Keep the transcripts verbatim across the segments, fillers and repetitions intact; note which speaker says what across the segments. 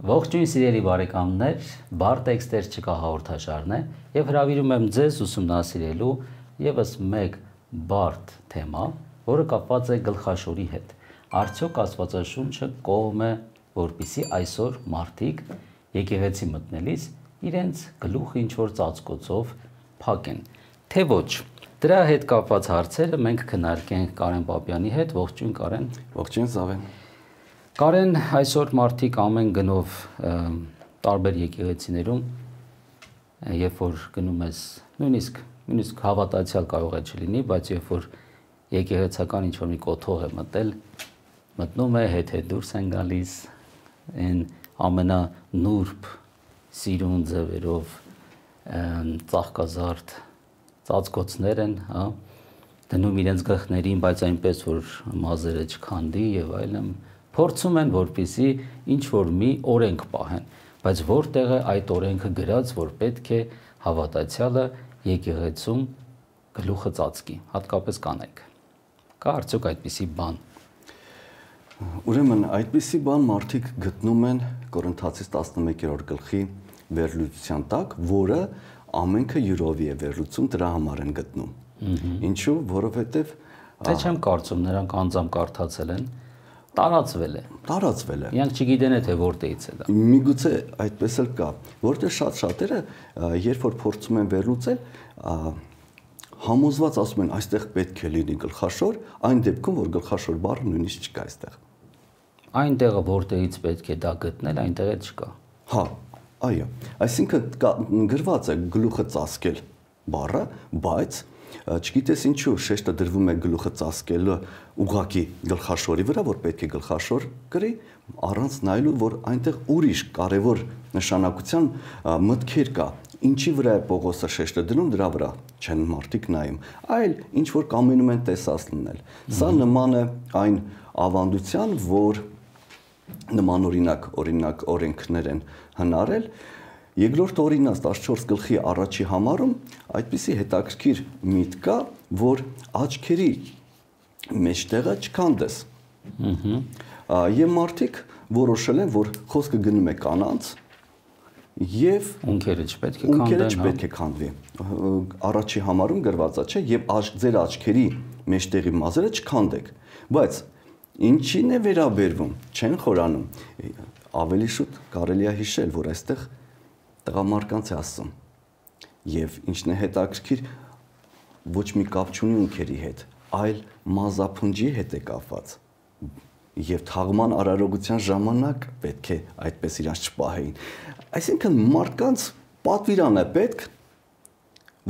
Speaker 1: Ողջույն սիրելի բարեկամներ, բարդ տեքստեր չկա հաղորդաշարն է եւ հրավիրում եմ ձեզ ուսումնասիրելու եւս մեկ բարդ թեմա, որը կապված է գլխաշորի հետ։ Արդյոք Աստվածաշունչը կողմ է, որպեսզի այսօր մարդիկ եկեղեցի մտնելիս իրենց գլուխը ինչ որ ծածկոցով փակեն, թե ոչ։ Դրա հետ կապված հարցերը մենք քննարկենք Կարեն Պապյանի հետ։ Ողջույն Կարեն։
Speaker 2: Ողջույն Զավեն։
Speaker 1: Կարեն, այսօր մարդիկ ամեն գնով տարբեր եկեղեցիներում, երբ որ գնում ես, նույնիսկ նույնիսկ հավատացյալ կարող է չլինի, բայց երբ որ եկեղեցական ինչ-որ մի կոթող է մտել, մտնում է, հետ-հետ դուրս են գալիս, այն ամենանուրբ սիրուն ձևերով ծաղկազարդ ծածկոցներ են, հա, դնում իրենց գլխներին, բայց այնպես որ մազերը չքանդի եւ այլն, փորձում են որպեսզի ինչ որ մի օրենք պահեն, բայց որտեղ է այդ օրենքը գրած, որ պետք է հավատացյալը եկեղեցում գլուխը ծածկի, հատկապես կանայք։ Կա արդյոք այդպիսի բան։
Speaker 2: Ուրեմն այդպիսի բան մարդիկ գտնում են Կորինթացիս տասնմեկերորդ գլխի վերլուծության տակ, որը ամենքը յուրովի է վերլուծում, դրա համար են գտնում։ Ինչու՞, որովհետև
Speaker 1: Թե չեմ կարծում նրանք անձամբ կարդացել են, տարածվել է։
Speaker 2: Տարածվել է։
Speaker 1: Իրանք չգիտեն թե որտեղից է դա։
Speaker 2: Միգուցե այդպես էլ կա, որտեղ շատ շատերը, երբ որ փորձում են վերլուծել, համոզված ասում են, այստեղ պետք է լինի գլխաշոր, այն դեպքում, որ գլխաշոր բառը նույնիսկ չկա այստեղ։
Speaker 1: Այնտեղը որտեղից պետք է դա գտնել, այնտեղ էլ չկա։
Speaker 2: Հա, այո, այսինքն գրված է գլուխը ծածկել բառը, բայց չգիտես ինչու շեշտը դրվում է գլուխը ծածկելը ուղղակի գլխաշորի վրա, որ պետք է գլխաշոր գրի, առանց նայելու, որ այնտեղ ուրիշ կարևոր նշանակության մտքեր կա, ինչի վրա է Պողոսը շեշտը դնում, դրա վրա չեն մարդիկ նայում, այլ ինչ որ կամենում են տեսած լինել։ Սա նման է այն ավանդության, որ նման օրինակ, օրինակ օրենքներ են հնարել։ Երկրորդ օրինակ տասնչորս գլխի առաջի համարում այդպիսի հետաքրքիր միտք կա, որ աչքերի մեջտեղը չքանդես։ Եվ մարդիկ որոշել են, որ խոսքը գնում է կանանց եւ
Speaker 1: ունքերը չպետք է քանդեն,
Speaker 2: ունքերը չպետք է քանդվի։ Առաջի համարում գրված է, չէ, եւ ձեր աչքերի մեջտեղի մազերը չքանդեք, բայց ինչին է վերաբերվում, չեն խորանում։ Ավելի շուտ կարելի է հիշել, որ այստեղ տղամարդկանց է ասում եւ ինչն է հետաքրքիր, ոչ մի կապ չունի ունքերի հետ, այլ մազափնջի հետ է կապված եւ թաղման արարողության ժամանակ պետք է այդպես իրանց չպահեին։ Այսինքն մարդկանց պատվիրան է պետք,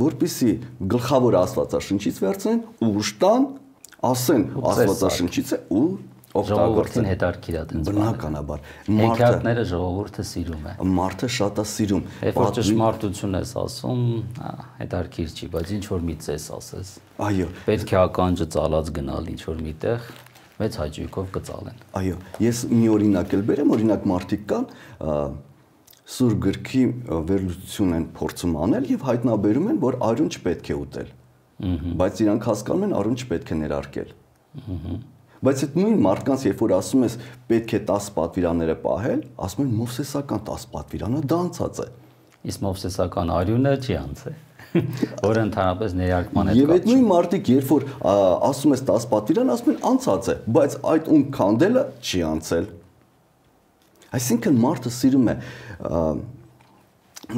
Speaker 2: որպեսզի գլխավոր Աստվածաշնչից վերցնեն, ուշ տան, ասեն Աստվածաշնչից է ու
Speaker 1: Ժողովրդին հետարքիր է դենց։
Speaker 2: Բնականաբար
Speaker 1: հեքիաթները ժողովուրդը սիրում է։
Speaker 2: Մարդը շատ է սիրում։
Speaker 1: Երբ որ ճշմարտություն ես ասում, հետարքիր չի, բայց ինչ որ մի ծես ասես։
Speaker 2: Այո։
Speaker 1: Պետք է ականջը ծալած գնալ ինչ որ միտեղ, մեծ հաճույքով կծալեն։
Speaker 2: Այո, ես մի օրինակ էլ բերեմ, օրինակ մարդիկ կան, Սուրբ գրքի վերլուծություն են փորձում անել եւ հայտնաբերում են, որ արյուն չպետք է ուտել։ Բայց իրանք հասկանում են, արյուն չպետք է ներարկել։ Բայց այդ նույն մարդկանց, երբ որ ասում ես պետք է տասը պատվիրանները պահել, ասում են Մովսեսական տասը պատվիրանը դա անցած է։
Speaker 1: Իսկ Մովսեսական արյունը չի անցել, որը ընդհանրապես ներարկման հետ կապ չունի։
Speaker 2: Եվ այդ նույն մարդիկ, երբ որ ասում ես տասը պատվիրան, ասում են անցած է, բայց այդ ում քանդելը չի անցել։ Այսինքն մարդը սիրում է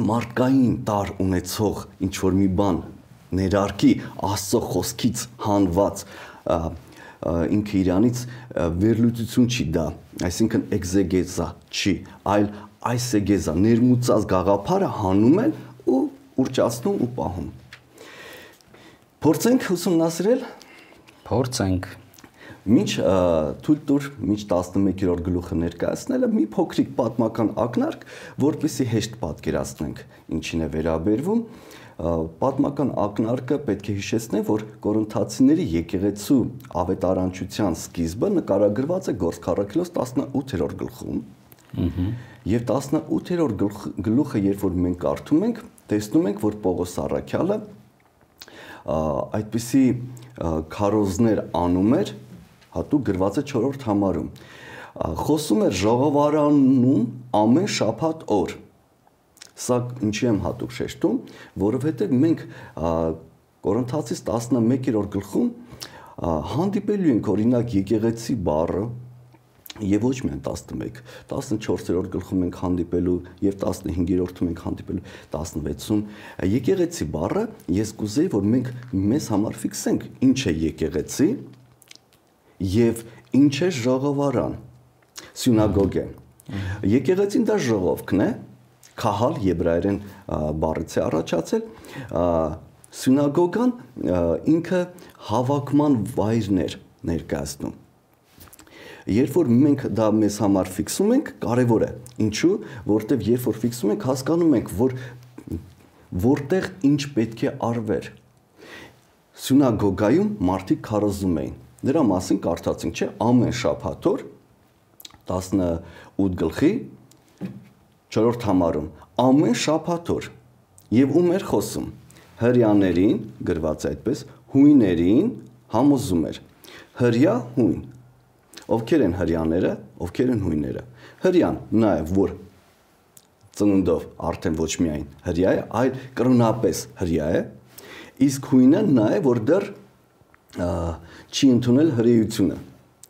Speaker 2: մարդկային տար ունեցող ինչ որ մի բան ներարկի Աստծո խոսքից հանված ինքը իրանից վերլուծություն չի դա, այսինքն էքզեգեզա չի, այլ այսեգեզա ներմուծած գաղափարը հանում են ու ուրճացնում ու պահում։ Փորձենք ուսումնասիրել,
Speaker 1: փորձենք։
Speaker 2: Մինչ թույլ տուր, մինչ տասնմեկերորդ գլուխը ներկայացնելը մի փոքրիկ պատմական ակնարկ, որպեսզի հեշտ պատկերացնենք ինչին է վերաբերվում։ Պատմական ակնարկը պետք է հիշեցնեմ, որ Կորինթացիների եկեղեցու ավետարանչության սկիզբը նկարագրված է Գործք առաքելոց տասնութերորդ գլխում։ Եվ տասնութերորդ գլուխը, երբ որ մենք կարդում ենք, տեսնում ենք, որ Պողոս առաքյալը այդպիսի քարոզներ անում էր, հատուկ գրված է չորրորդ համարում։ խոսում էր ժողովարանում ամեն շաբաթ օր։ Սա ինչի եմ հատուկ շեշտում, որովհետև մենք Կորինթացիս տասնմեկերորդ գլխում հանդիպելու ենք օրինակ եկեղեցի բառը եւ ոչ միայն տասնմեկ, տասնչորսերորդ գլխում ենք հանդիպելու եւ տասնհինգերորդում ենք հանդիպելու, տասնվեցում եկեղեցի բառը ես կուզեի որ մենք մեզ համար ֆիքսենք ինչ է եկեղեցի եւ ինչ է ժողովարան, սյունագոգը։ Եկեղեցին դա ժողովքն է, քահալ եբրայերեն բառից է առաջացել, սյունագոգան ինքը հավաքման վայրներ ներկայացնում։ Երբ որ մենք դա մեզ համար ֆիքսում ենք, կարևոր է։ Ինչու՞, որտեղ երբ որ ֆիքսում ենք, հասկանում ենք, որ որտեղ ինչ պետք է արվեր։ Սյունագոգայում մարդիկ քարոզում էին։ Դրա մասին կարդացինք, չէ՞, ամեն շաբաթ օր տասնութ գլխի չորրորդ համարում, ամեն շաբաթ օր։ Եվ ում էր խոսում։ Հրյաներին, գրված է այդպես, հույներին համոզում էր։ Հրյա հույն։ Ովքեր են հրյաները, ովքեր են հույները։ Հրյան նա է, որ ծնունդով արդեն ոչ միայն հրյա է, այլ կրոնապես հրյա է, իսկ հույնը նա է, որ դեռ չի ընդունել հրեությունը։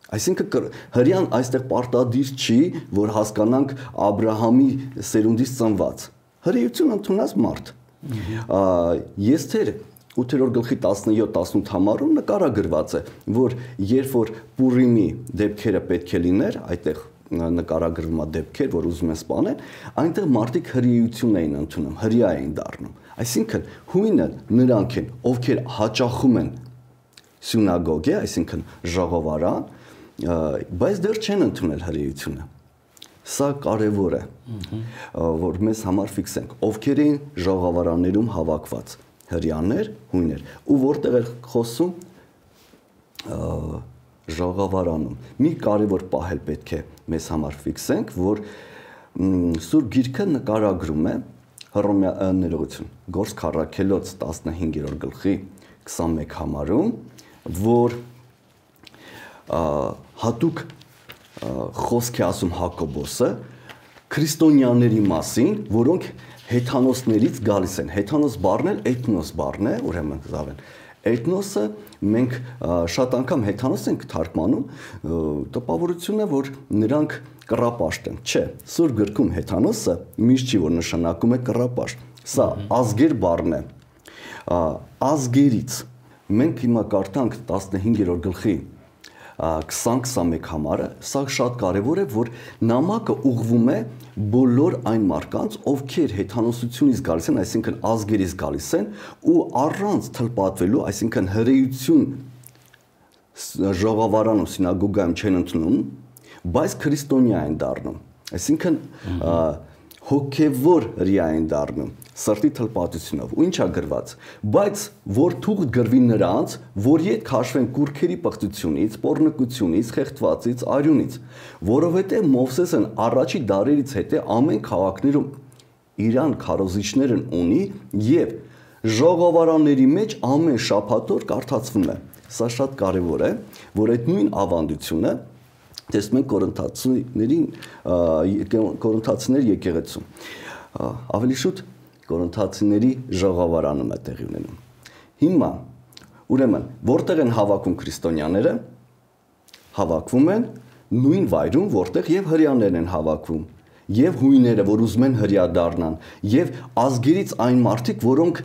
Speaker 2: Այսինքն հրյան այստեղ պարտադիր չի, որ հասկանանք Աբրահամի սերունդից ծնված։ Հրեություն ընդունած մարդ։ Եստեր ութերորդ գլխի տասնյոթ տասնութ համարում նկարագրված է, որ երբ որ Պուրիմի դեպքերը պետք է լիներ, այդտեղ նկարագրվում է դեպքեր, որ ուզում են սպանել, այնտեղ մարդիկ հրեություն էին ընդունում, հրյա էին դառնում։ Այսինքն հույնը նրանք են, ովքեր հաճախում են սյունագոգե, այսինքն ժողովարան, բայց դեռ չեն ընդունել հրեությունը։ Սա կարևոր է, որ մեզ համար ֆիքսենք, ովքեր էին ժողովարաններում հավաքված, հրյաներ, հույներ, ու որտեղ էր խոսում ժողովարանում։ Մի կարևոր պահ էլ պետք է մեզ համար ֆիքսենք, որ Սուրբ Գիրքը նկարագրում է Հռոմեա ներողություն, Գործք Առաքելոց տասնհինգերորդ գլխի քսանմեկ համարում, որ հատուկ խոսք է ասում Հակոբոսը քրիստոնյաների մասին, որոնք հեթանոսներից գալիս են։ Հեթանոս բառն էլ էթնոս բառն է, ուրեմն զավեն։ Էթնոսը մենք շատ անգամ հեթանոս ենք թարգմանում, տպավորությունը, որ նրանք կռապաշտ են։ Չէ, Սուրբ գրքում հեթանոսը միշտ չի, որ նշանակում է կռապաշտ։ Սա ազգեր բառն է։ Ազգերից մենք հիմա կարդանք տասնհինգերորդ գլխի քսան քսանմեկ համարը, սա շատ կարևոր է, որ նամակը ուղղվում է բոլոր այն մարդկանց, ովքեր հեթանոսությունից գալիս են, այսինքն ազգերից գալիս են, ու առանց թլպատվելու, այսինքն հրեություն ժողովարանում, սինագոգայում չեն ընդունում, բայց քրիստոնյա են դառնում, այսինքն հոգևոր հրյա են դառնում, սրտի թլպատությունով, ու ինչա գրված, բայց որ թուղթ գրվի նրանց, որ ետ քաշվեն կուրքերի պղծությունից, պոռնկությունից, խեղդվածից, արյունից, որովհետև Մովսեսն առաջի դարերից հետո ամեն քաղաքներում իրան քարոզիչներն ունի եւ ժողովարանների մեջ ամեն շաբաթ օր կարդացվում է։ Սա շատ կարևոր է, որ այդ նույն ավանդությունը տեսնում ենք Կորինթացիներին, Կորինթացիներ եկեղեցում։ Ավելի շուտ Կորինթացիների ժողովարանում է տեղի ունենում։ Հիմա, ուրեմն, որտեղ են հավաքում քրիստոնյաները, հավաքվում են նույն վայրում, որտեղ եւ հրյաներն են հավաքվում, եւ հույները, որ ուզում են հրյա դառնան, եւ ազգերից այն մարդիկ, որոնք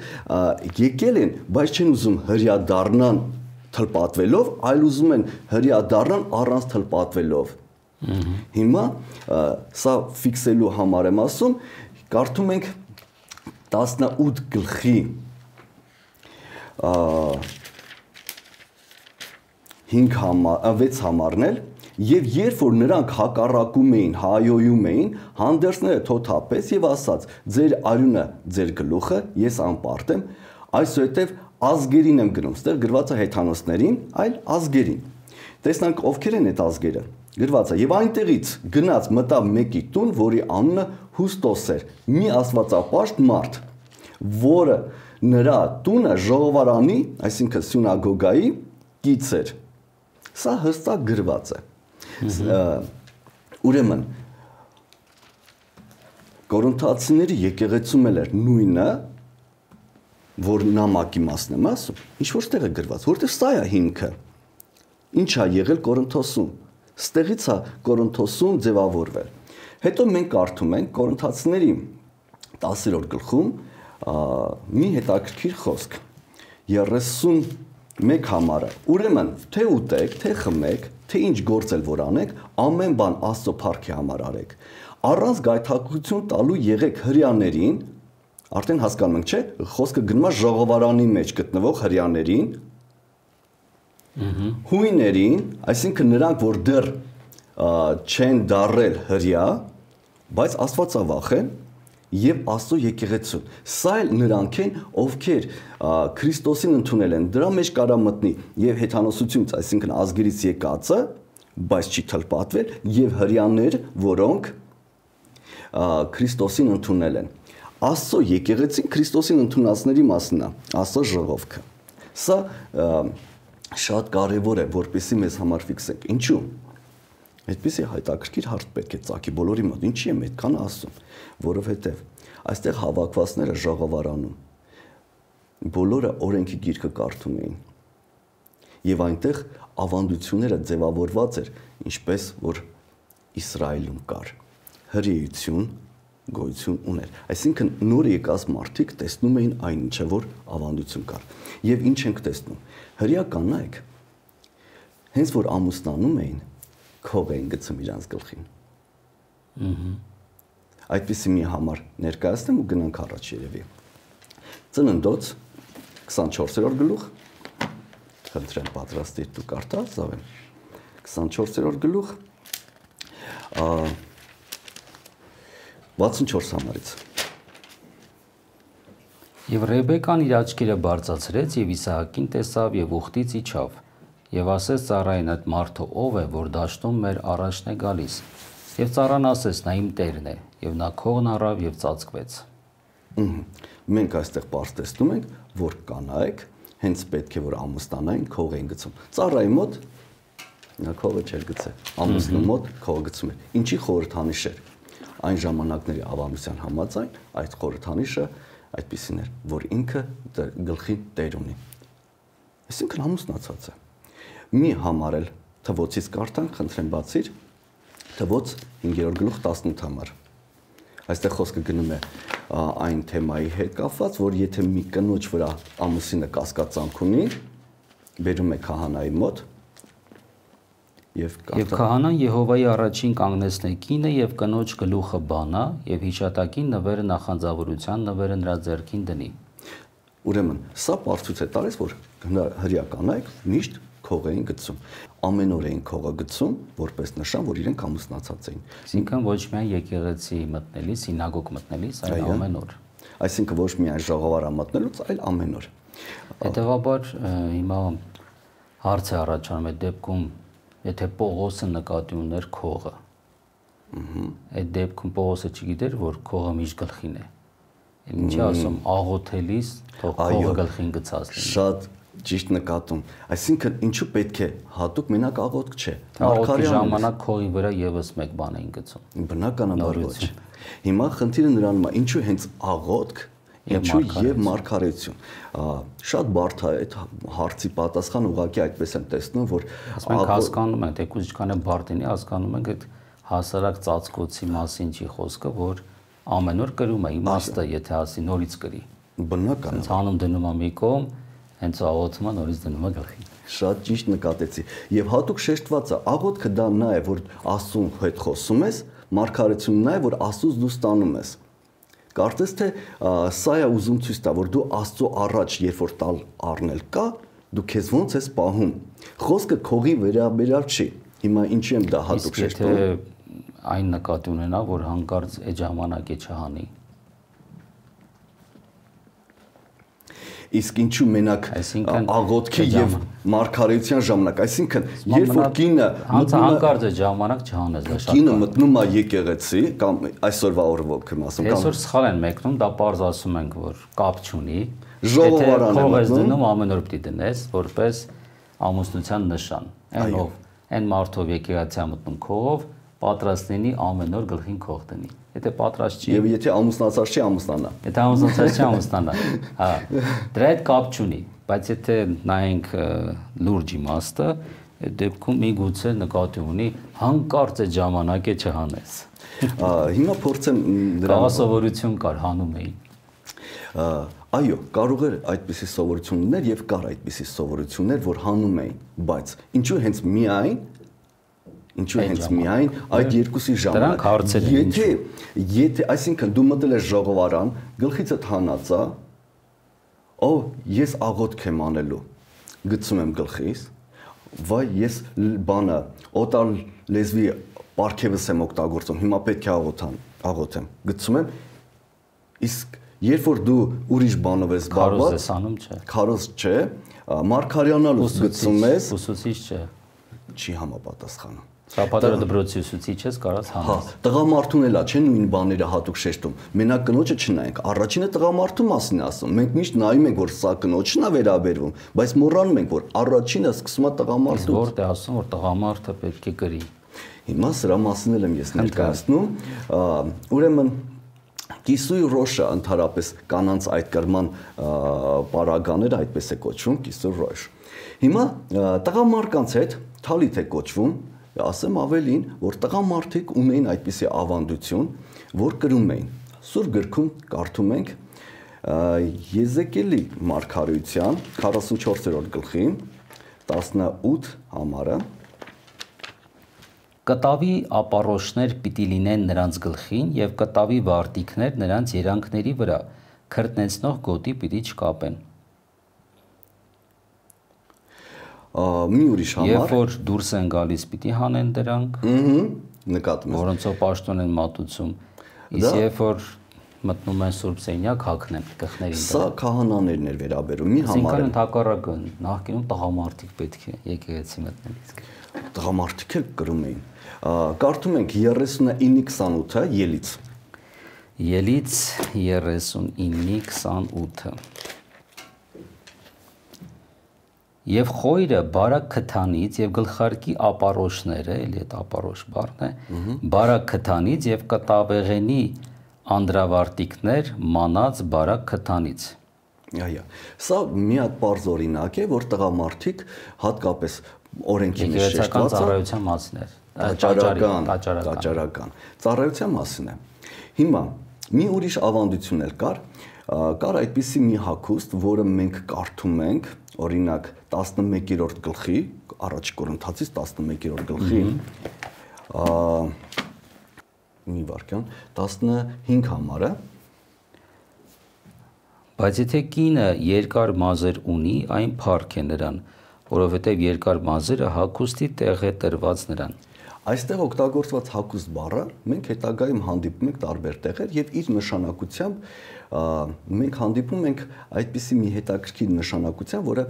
Speaker 2: եկել են, բայց չեն ուզում հրյա դառնան թլպատվելով, այլ ուզում են հրյա դառնան առանց թլպատվելով։ Հիմա սա ֆիքսելու համար եմ ասում, կարդում ենք տասնութ գլխի հինգ համար, վեց համարն էլ, եւ երբ որ նրանք հակառակում էին, հայոյում էին, հանդերձները թոթափեց եւ ասաց. ձեր արյունը, ձեր գլուխը, ես անպարտ եմ, այսուհետեւ ազգերին եմ գնում, ստեղ գրված է հեթանոսներին, այլ ազգերին։ Տեսնանք ովքեր են այդ ազգերը։ Գրված է եւ այնտեղից գնաց մտավ մեկի տուն, որի անունը Հուստոս էր, մի աստվածապաշտ մարդ, որը նրա տունը ժողովարանի, այսինքն սյունագոգայի կից էր։ Սա հստակ գրված է։ Ուրեմն Կորինթացիների եկեղեցում էլ էր նույնը, որ նամակի մասն եմ ասում, ինչ որ տեղ է գրված, որտեղ սա է հիմքը։ Ինչ է եղել Կորինթոսում։ Ստեղից է Կորինթոսում ձևավորվել։ Հետո մենք կարդում ենք Կորինթացիների տասերորդ գլխում մի հետաքրքիր խոսք։ երեսունմեկ համարը։ Ուրեմն, թե ուտեք, թե խմեք, թե ինչ գործ էլ որ անեք, ամեն բան Աստծո փառքի համար արեք։ Առանց գայթակղություն տալու եղեք հրեաներին, արդեն հասկանում ենք, չէ՞, խոսքը գնում է ժողովարանի մեջ գտնվող հրեաներին, հույներին, այսինքն նրանք, որ դեռ չեն դառել հրեա, բայց Աստվածավախ են եւ Աստծո եկեղեցուն։ Սա էլ նրանք են, ովքեր Քրիստոսին ընդունել են, դրա մեջ կարա մտնի եւ հեթանոսությունից, այսինքն ազգերից եկածը, բայց չի թլպատվել, եւ հրեաներ, որոնք Քրիստոսին ընդունել են։ Աստծո եկեղեցին Քրիստոսին ընդունածների մասն է, Աստծո ժողովքը։ Սա շատ կարևոր է, որպեսզի մեզ համար ֆիքսենք։ Ինչու՞։ Այդպեսի հայտակրքիր հարց պետք է ծագի բոլորի մոտ։ Ինչի եմ այդքան ասում, որովհետև այստեղ հավաքվածները ժողովարանում բոլորը օրենքի գիրքը կարդում էին։ Եվ այնտեղ ավանդությունները ձևավորված էր, ինչպես որ Իսրայելում կար։ Հրեություն գոյություն ուներ։ Այսինքն նոր եկած մարդիկ տեսնում էին այն ինչը որ ավանդություն կար։ Եվ ինչ ենք տեսնում։ Հրեա կանայք հենց որ ամուսնանում էին քող էին գցում իրանց գլխին։ Ահա։ Այդպիսի մի համար ներկայացնեմ ու գնանք առաջ երևի։ Ծննդոց քսանչորսերորդ գլուխ։ Խնդրեմ պատրաստիր դու կարդա, Զավեն։ քսանչորսերորդ գլուխ։ վաթսունչորս համարից։
Speaker 1: Եվ Ռեբեկան իր աչքերը բարձրացրեց եւ Իսահակին տեսավ եւ ուխտից իջավ։ Եվ ասեց Սարային այդ մարդը ով է, որ դաշտում մեր առաջն է գալիս։ Եվ Սարան ասեց նա իմ տերն է, եւ նա քողն առավ եւ ծածկվեց։
Speaker 2: Մենք այստեղ բարձ տեսնում ենք, որ կանայք հենց պետք է որ ամուսնանային քող էին գցում։ Ծառայի մոտ նա քողը չէր գցել, ամուսնու մոտ քող գցում էր։ Ինչի խորհրդանիշ էր։ Այն ժամանակների ավանդության համաձայն այդ խորհրդանիշը այդպիսին էր, որ ինքը գլխի տեր ունի։ Այսինքն ամուսնացած է։ Մի համարել թվոցից կարդանք, խնդրեմ բացիր, թվոց հինգերորդ գլուխ տասնութ համար։ Այստեղ խոսքը գնում է այն թեմայի հետ կապված, որ եթե մի կնոջ վրա ամուսինը կասկածանք ունի, բերում է քահանայի մոտ եւ
Speaker 1: Եվ քահանան Եհովայի առաջին կանգնեցնե կինը եւ կնոջ գլուխը բանա եւ հիշատակին նվերը նախանձավորության նվերը նրա ձեռքին դնի։
Speaker 2: Ուրեմն սա բարձուց է տալիս, որ հրեա կանայք միշտ քող էին գցում։ Ամեն օր էին քողը գցում, որպես նշան, որ իրենք ամուսնացած էին։
Speaker 1: Այսինքն ոչ միայն եկեղեցի մտնելիս, սինագոգ մտնելիս, այլ ամեն օր։
Speaker 2: Այսինքն ոչ միայն ժողովարա մտնելուց, այլ ամեն օր։
Speaker 1: Հետևաբար հիմա հարց է առաջանում այդ դեպքում, եթե Պողոսը նկատի ուներ քողը։ Այդ դեպքում Պողոսը չգիտեր, որ քողը միշտ գլխին է։ Ինչի ասում, աղոթելիս թող քողը գլխին գցած լինի։
Speaker 2: Շատ ճիշտ նկատում։ Այսինքն ինչու պետք է հատուկ մենակ աղոթք չէ։
Speaker 1: Աղոթքի ժամանակ քողի վրա եւս մեկ բան էին գցում։
Speaker 2: Բնականաբար ոչ։ Հիմա խնդիրը նրանում է, ինչու հենց աղոթք, ինչու եւ մարգարեություն։ Շատ բարդ է այդ հարցի պատասխան ուղղակի այդպես եմ տեսնում, որ
Speaker 1: մենք հասկանում ենք, թեկուզ ինչքան է բարդ լինի, հասկանում ենք այդ հասարակ ծածկոցի մասին չի խոսքը, որ ամեն օր կրում է իմաստը, եթե ասի նորից կրի։
Speaker 2: Բնական։
Speaker 1: Հանում դնում է մի կողմ, հենց աղոթումը նորից դնում է գլխին։
Speaker 2: Շատ ճիշտ նկատեցի։ Եվ հատուկ շեշտված է, աղոթքը դա նա է, որ Աստծուն հետ խոսում ես, մարգարեությունն նա է, որ Աստծուց դու ստանում ես։ Կարծես թե սա է ուզում ցույց տա, որ դու Աստծո առաջ երբ որ տալ առնել կա, դու քեզ ոնց ես պահում։ Խոսքը քողի վերաբերյալ չի։ Հիմա ինչու եմ դա հատուկ շեշտում։
Speaker 1: Եթե այն նկատի ունենա, որ հանկարծ այդ ժամանակ է չհանի։
Speaker 2: Իսկ ինչու մենակ աղոթքի եւ մարգարեության ժամանակ, այսինքն երբ որ կինը
Speaker 1: հանկարծ է ժամանակ չհանես դա շատ։
Speaker 2: Կինը մտնում է եկեղեցի կամ այսօրվա օրվոք եմ ասում
Speaker 1: կամ այսօր սխալ են մեկնում, դա պարզ ասում ենք, որ կապ չունի։
Speaker 2: Ժողովարան է
Speaker 1: մտնում, դնում ամեն օր պիտի դնես, որպես ամուսնության նշան։ Այն ով այն մարդով եկեղեցի մտնում քողով, պատրաստ լինի ամեն օր գլխին քող դնի։ Եթե պատրաստ չի,
Speaker 2: եւ եթե ամուսնացած չի, ամուսնանա։
Speaker 1: Եթե ամուսնացած չի, ամուսնանա։ Հա, դրա հետ կապ չունի, բայց եթե նայենք լուրջ իմաստը, այդ դեպքում միգուցե նկատի ունի հանկարծ այդ ժամանակ է չհանես։
Speaker 2: Հիմա փորձեմ
Speaker 1: դրա սովորություն կար, հանում էին։
Speaker 2: Այո, կարող էր այդպիսի սովորություններ եւ կար այդպիսի սովորություններ, որ հանում էին, բայց ինչու հենց միայն Ինչու հենց միայն այդ երկուսի ժամանակ։ Եթե եթե այսինքն դու մտել ես ժողովարան, գլխիցդ հանածա, օ, ես աղոթք եմ անելու։ Գցում եմ գլխիս, վայ, ես բանը օտար լեզվի պարգևս եմ օգտագործում, հիմա պետք է աղոթան, աղոթեմ։ Գցում եմ, իսկ երբ որ դու ուրիշ բանով ես զբաղված,
Speaker 1: քարոզ ես անում, չէ։
Speaker 2: Քարոզ չէ, Մարգարյանալուց գցում ես,
Speaker 1: ուսուցիչ չէ։
Speaker 2: Չի համապատասխանում։
Speaker 1: Շաբաթը դպրոցի ուսուցիչ ես, կարաս հանես։
Speaker 2: Հա, տղամարդուն էլա չէ նույն բաները հատուկ շեշտում։ Մենակ կնոջը չնայենք, առաջինը տղամարդու մասին է ասում։ Մենք միշտ նայում ենք, որ սա կնոջն է վերաբերվում, բայց մոռանում ենք, որ առաջինը սկսում է տղամարդուց։
Speaker 1: Որտե ասում, որ տղամարդը պետք է կրի։
Speaker 2: Հիմա սրա մասին եմ ես ներկայացնում, ուրեմն Կիսույ ռոշը ընդհանրապես կանանց այդ կրման պարագաները այդպես է կոչվում, կիսույ ռոշ։ Հիմա տղամարդկանց հետ թալիթ է կոչվում, ասեմ ավելին, որ տղամարդիկ ունեին այդպիսի ավանդություն, որ կրում էին։ Սուրբ գրքում կարդում ենք Եզեկիելի մարգարեության քառասունչորսերորդ գլխի տասնութ համարը
Speaker 1: Կտավի ապարոշներ պիտի լինեն նրանց գլխին եւ կտավի վարտիքներ նրանց երանքների վրա, քրտնեցնող գոտի պիտի չկապեն։
Speaker 2: Մի ուրիշ համար։
Speaker 1: Երբ որ դուրս են գալիս, պիտի հանեն դրանք։
Speaker 2: Ըհը, նկատում եմ։
Speaker 1: Որոնցով պաշտոն են մատուցում։ Իսկ երբ որ մտնում են Սուրբ Սենյակ, հագնեն գլխներին։
Speaker 2: Սա քահանաներն էր վերաբերում, մի համար։
Speaker 1: Այսինքն ընդհակառակը նախկինում տղամարդիկ պետք է եկեղեցի մտնել իսկ։
Speaker 2: Տղամարդիկ էլ կրում էին։ Կարդում ենք երեսունինը քսանութը ելից։
Speaker 1: Ելից երեսունինը քսանութը Եվ խոյրը բարակ քթանից եւ գլխարկի ապարոշները, էլի այդ ապարոշ բառն է, բարակ քթանից եւ կտավեղենի անդրավարտիկներ մանած բարակ քթանից։
Speaker 2: Այո, սա մի հատ բարձ օրինակ է, որ տղամարդիկ հատկապես օրենքի մեջ
Speaker 1: շեշտված ծառայության մասին է,
Speaker 2: տաճարական, տաճարական ծառայության մասին է։ Հիմա մի ուրիշ ավանդություն էլ կար, կար այդպիսի մի հագուստ, որը մենք կարդում ենք, օրինակ տասնմեկերորդ գլխի, առաջ Կորինթացից տասնմեկերորդ գլխի, մի վարքյան, տասնհինգ համարը։
Speaker 1: Բայց եթե կինը երկար մազեր ունի, այն փառք է նրան, որովհետև երկար մազերը հագուստի տեղ է տրված նրան։
Speaker 2: Այստեղ օգտագործված հագուստ բառը մենք հետագայում հանդիպում ենք տարբեր տեղեր եւ իր նշանակությամբ մենք հանդիպում ենք այդպիսի մի հետաքրքիր նշանակության, որը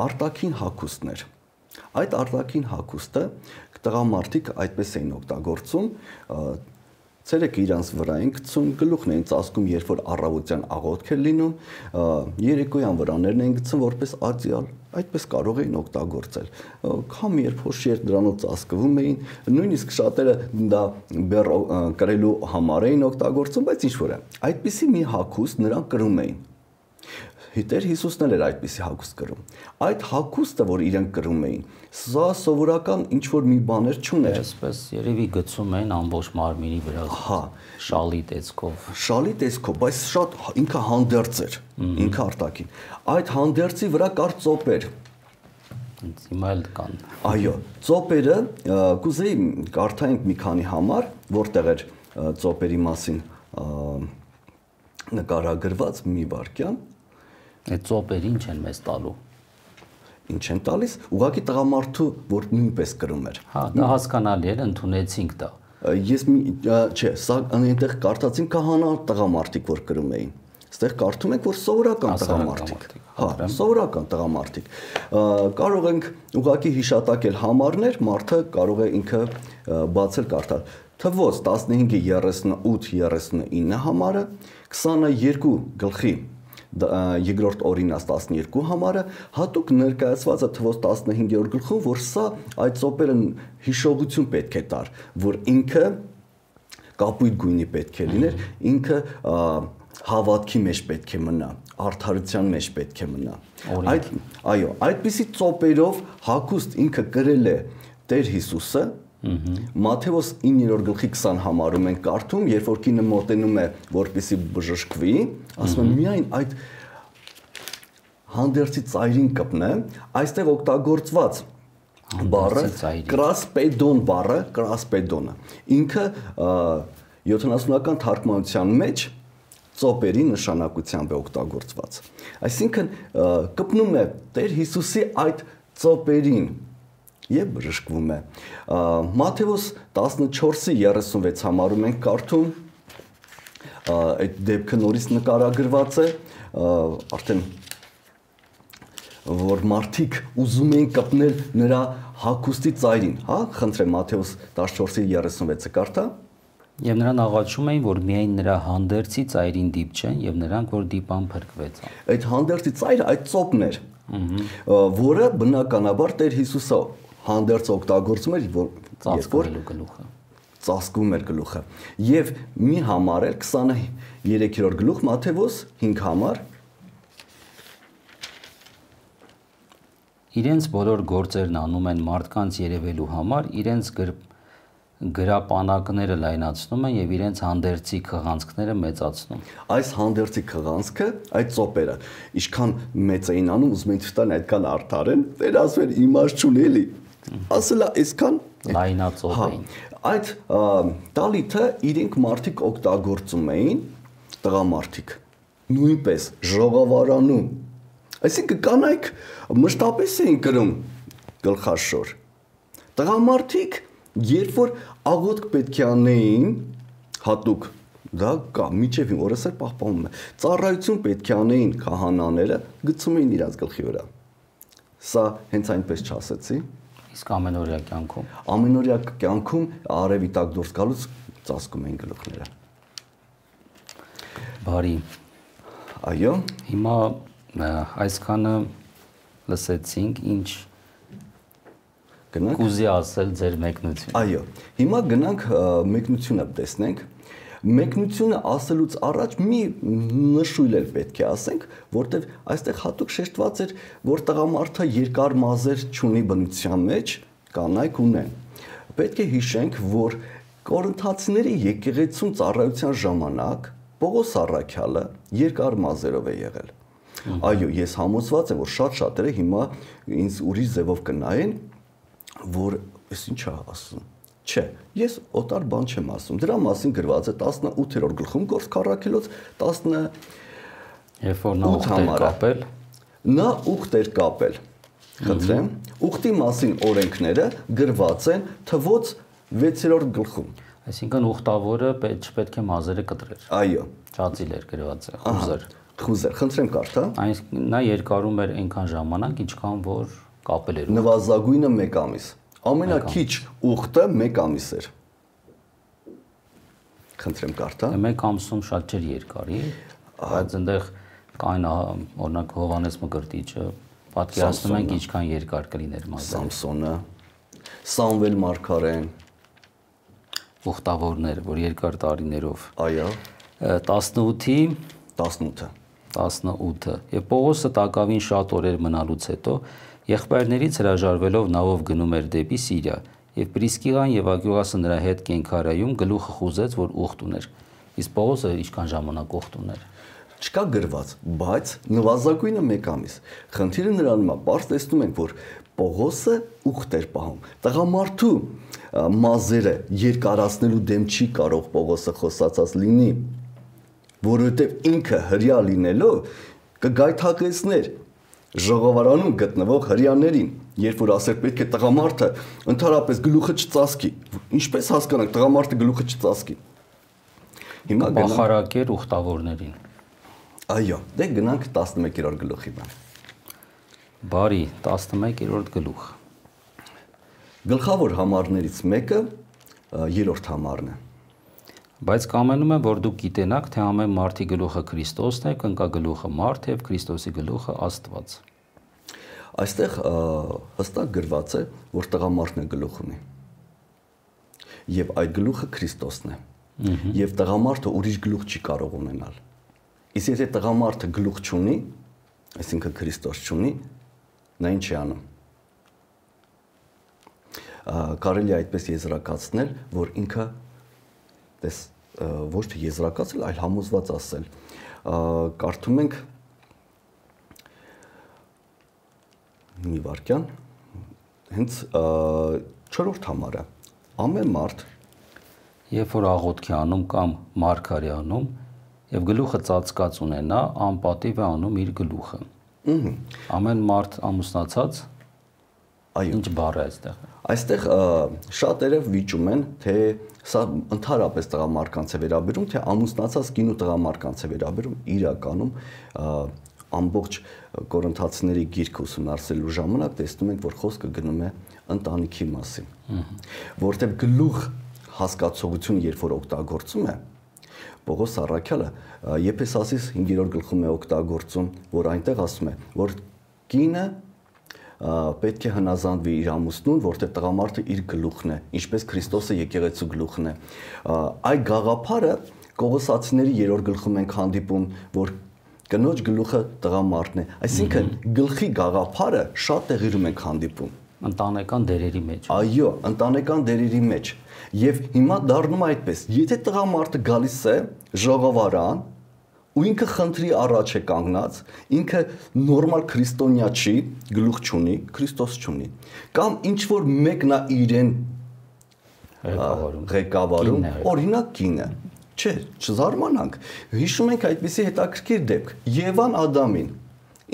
Speaker 2: արտաքին հագուստն էր։ Այդ արտաքին հագուստը տղամարդիկ այդպես էին օգտագործում, ցերեկը իրանց վրա են գցում, գլուխն են ծածկում, երբ որ առավոտյան աղոթք է լինում, երեկոյան վրաներն են գցում որպես ածյալ, այդպես կարող էին օգտագործել։ Կամ երբ որ շերտ դրանով ծածկվում էին, նույնիսկ շատերը դա բեռ կրելու համար էին օգտագործում, բայց ինչ որ է, այդպիսի մի հագուստ նրանք կրում էին։ Տեր Հիսուսն էլ էր այդպիսի հագուստ կրում։ Այդ հագուստը, որ իրենք կրում էին, սա սովորական ինչ որ մի բաներ չուներ։
Speaker 1: Այսպես երևի գցում էին ամբողջ մարմինի վրա։
Speaker 2: Հա,
Speaker 1: շալի տեսքով։
Speaker 2: Շալի տեսքով, բայց շատ ինքը հանդերձ էր, ինքը արտաքին։ Այդ հանդերձի վրա կար ծոպեր։
Speaker 1: Հիմա էլ կան։
Speaker 2: Այո, ծոպերը կուզեի կարդայինք մի քանի համար, որտեղ էր ծոպերի մասին նկարագրված մի վարքյան։
Speaker 1: Այդ ծոպերը ինչ են մեզ տալու։
Speaker 2: Ինչ են տալիս, ուղղակի տղամարդու, որ նույնպես կրում էր։
Speaker 1: Հա, դա հասկանալի էր, ընդունեցինք դա։
Speaker 2: Ես չէ, սա այնտեղ կարդացին քահանա տղամարդիկ, որ կրում էին։ Այստեղ կարդում ենք, որ սովորական տղամարդիկ։ Հա, սովորական տղամարդիկ։ Կարող ենք ուղղակի հիշատակել համարներ, մարդը կարող է ինքը բացել կարդալ։ Թվոց տասնհինգը երեսունութ երեսունինը համարը, քսաներկու գլխի երկրորդ օրինաց տասներկու համարը հատուկ ներկայացված է թվով տասնհինգերորդ գլխում, որ սա այդ ծոպերը հիշողություն պետք է տար, որ ինքը կապույտ գույնի պետք է լիներ, ինքը հավատքի մեջ պետք է մնա, արդարության մեջ պետք է մնա։ Այդ այո, այդպիսի ծոպերով հագուստ ինքը կրել է Տեր Հիսուսը, Մատթեոս իններորդ գլխի քսան համարում ենք կարդում, երբ որ կինը մոտենում է, որպեսզի բժշկվի, ասում է միայն այդ հանդերձի ծայրին կպնե, այստեղ օգտագործված բառը կրասպեդոն բառը, կրասպեդոնը։ Ինքը յոթանասունական թարգմանության մեջ ծոպերի նշանակությամբ է օգտագործված։ Այսինքն կպնում է Տեր Հիսուսի այդ ծոպերին եւ բժշկվում է։ Մատթեոս տասնչորսի երեսունվեց համարում ենք կարդում, այդ դեպքը նորից նկարագրված է, արդեն որ մարդիկ ուզում էին կպնել նրա հագուստի ծայրին, հա, խնդրեմ Մատթեոս տասնչորսի երեսունվեցը կարդա։
Speaker 1: Եվ նրան աղաչում էին, որ միայն նրա հանդերձի ծայրին դիպչեն եւ նրանք որ դիպան փրկվեցան։ Այդ
Speaker 2: հանդերձի ծայրը այդ ծոպն էր, որը բնականաբար Տեր Հիսուսը հանդերձ օգտագործում էր, որ
Speaker 1: ծածկելու գլուխը
Speaker 2: ծածկում էր գլուխը եւ մի համար էր քսաներեքերորդ գլուխ Մատթեոս հինգ համար
Speaker 1: իրենց բոլոր գործերն անում են մարդկանց երևելու համար, իրենց գրապանակները լայնացնում են եւ իրենց հանդերձի քղանցքները մեծացնում։
Speaker 2: Այս հանդերձի քղանցքը, այդ ծոպերը, ինչքան մեծ էին անում, ուզում են ցտան այդքան արդար են, դեր ասում են իմաստ չունի էլի։ Ասելա այսքան
Speaker 1: լայնածոպ էին։
Speaker 2: Այդ տալիթը իրենք մարդիկ օգտագործում էին, տղամարդիկ, նույնպես ժողովարանում։ Այսինքն կանայք մշտապես էին կրում գլխաշոր։ Տղամարդիկ, երբ որ աղոթք պետք է անեին, հատուկ դա կա, միջևին օրս էլ պահպանում է։ Ծառայություն պետք է անեին քահանաները, գցում էին իրաց գլխի վրա։ Սա հենց այնպես չասեցի։
Speaker 1: Իսկ ամենօրյա կյանքում։
Speaker 2: Ամենօրյա կյանքում արևի տակ դուրս գալուց ծածկում էին գլուխները։
Speaker 1: Բարի։
Speaker 2: Այո։
Speaker 1: Հիմա այսքանը լսեցինք, ինչ
Speaker 2: գնանք
Speaker 1: կուզի ասել ձեր մեկնությունը։
Speaker 2: Այո։ Հիմա գնանք մեկնությունը տեսնենք։ Մեկնությունը ասելուց առաջ մի նշույլ էլ պետք է ասենք, որտեղ այստեղ հատուկ շեշտված էր, որ տղամարդը երկար մազեր չունի բնության մեջ, կանայք ունեն։ Պետք է հիշենք, որ Կորինթացիների եկեղեցում ծառայության ժամանակ Պողոս առաքյալը երկար մազերով է եղել։ Այո, ես համոզված եմ, որ շատ շատերը հիմա ինձ ուրիշ ձևով կնայեն, որ ես ինչ է ասում։ Չէ, ես օտար բան չեմ ասում։ Դրա մասին գրված է տասնութերորդ գլխում Գործք առաքելոց տասն
Speaker 1: երբ որ նա ուխտ էր կապել,
Speaker 2: նա ուխտ էր կապել։ Խնդրեմ, ուխտի մասին օրենքները գրված են թվոց վեցերորդ գլխում։
Speaker 1: Այսինքն ուխտավորը չպետք է մազերը կտրեր։
Speaker 2: Այո,
Speaker 1: ճածիլ էր գրված է, խուզեր։
Speaker 2: Խուզեր, խնդրեմ կարդա։
Speaker 1: Այսինքն նա երկարում էր այնքան ժամանակ, ինչքան որ կապել էր։
Speaker 2: Նվազագույնը մեկ ամիս։ Ամենաքիչ ուխտը մեկ ամիս էր։ Խնդրեմ կարդա։
Speaker 1: Մեկ ամսում շատ չէր երկարի, բայց այնտեղ կային օրինակ Հովանես Մկրտիչը, պատկերացնում ենք ինչքան երկար կլիներ մազերը։
Speaker 2: Սամսոնը, Սամվել Մարգարեն,
Speaker 1: ուխտավորներ, որ երկար տարիներով։
Speaker 2: Այո։
Speaker 1: տասնութի
Speaker 2: տասնութը
Speaker 1: տասնութը եւ Պողոսը տակավին շատ օրեր մնալուց հետո եղբայրներից հրաժարվելով նավով գնում էր դեպի Սիրիա եւ Պրիսկիլան եւ Ակյուլասը նրա հետ կենքարայում գլուխը խուզեց, որ ուխտ ուներ։ Իսկ Պողոսը ինչքան ժամանակ ուխտ ուներ։
Speaker 2: Չկա գրված, բայց նվազագույնը մեկ ամիս։ Խնդիրը նրանում է, բարձ տեսնում ենք, որ Պողոսը ուխտ էր պահում։ Տղամարդու մազերը երկարացնելու դեմ չի կարող Պողոսը խոսացած լինի, որովհետև ինքը հրյա լինելով կգայթակեցներ ժողովարանում գտնվող հրյաներին, երբ որ ասեր պետք է տղամարդը ընդհանրապես գլուխը չծածկի։ Ինչպես հասկանանք տղամարդը գլուխը չծածկի։ Հիմա
Speaker 1: բախարակեր ուխտավորներին։
Speaker 2: Այո, դե գնանք տասնմեկերորդ գլուխի բան։
Speaker 1: Բարի, տասնմեկերորդ գլուխ։
Speaker 2: Գլխավոր համարներից մեկը երրորդ համարն է։
Speaker 1: Բայց կամենում եմ, որ դուք գիտենաք, թե ամեն մարդի գլուխը Քրիստոսն է, կնկա գլուխը մարդ եւ Քրիստոսի գլուխը Աստված։
Speaker 2: Այստեղ հստակ գրված է, որ տղամարդն է գլուխ ունի։ Եվ այդ գլուխը Քրիստոսն է։ Եվ տղամարդը ուրիշ գլուխ չի կարող ունենալ։ Իսկ եթե տղամարդը գլուխ չունի, այսինքն Քրիստոս չունի, նա ինչ է անում։ Կարելի է այդպես եզրակացնել, որ ինքը դες ոչ թե եզրակացել, այլ համոզված ասել։ Կարդում ենք մի վարքյան, հենց չորրորդ համարը։ Ամեն մարդ,
Speaker 1: երբ որ աղոթք է անում կամ մարգարե անում, եւ գլուխը ծածկած ունենա, անպատիվ է անում իր գլուխը։ Ամեն մարդ ամուսնացած,
Speaker 2: այո,
Speaker 1: ինչ բառ է այստեղ։
Speaker 2: Այստեղ շատերը վիճում են, թե սա ընդհանրապես տղամարդկանց է վերաբերում, թե ամուսնացած կին ու տղամարդկանց է վերաբերում, իրականում ամբողջ Կորինթացիների գիրքը ուսումնասիրելու ժամանակ տեսնում ենք, որ խոսքը գնում է ընտանիքի մասին, որտեղ գլուխ հասկացողություն երբ որ օգտագործում է, Պողոս առաքյալը Եփեսացիս հինգերորդ գլխում է օգտագործում, որ այնտեղ ասում է, որ կինը պետք է հնազանդվի իր ամուսնուն, որտեղ տղամարդը իր գլուխն է, ինչպես Քրիստոսը եկեղեցու գլուխն է։ Այդ գաղափարը Կողոսացիների երրորդ գլխում ենք հանդիպում, որ կնոջ գլուխը տղամարդն է, այսինքն գլխի գաղափարը շատ տեղերում ենք հանդիպում
Speaker 1: ընտանեկան դերերի մեջ։
Speaker 2: Այո, ընտանեկան դերերի մեջ։ Եվ հիմա դառնում է այդպես, եթե տղամարդը գալիս է ժողովարան ու ինքը խնդրի առաջ է կանգնած, ինքը նորմալ քրիստոնյա չի, գլուխ չունի, Քրիստոս չունի, կամ ինչ որ մեկն է իրեն ղեկավարում, օրինակ կինը, չէ, չզարմանանք, հիշում ենք այդպիսի հետաքրքիր դեպք, Եվան Ադամին,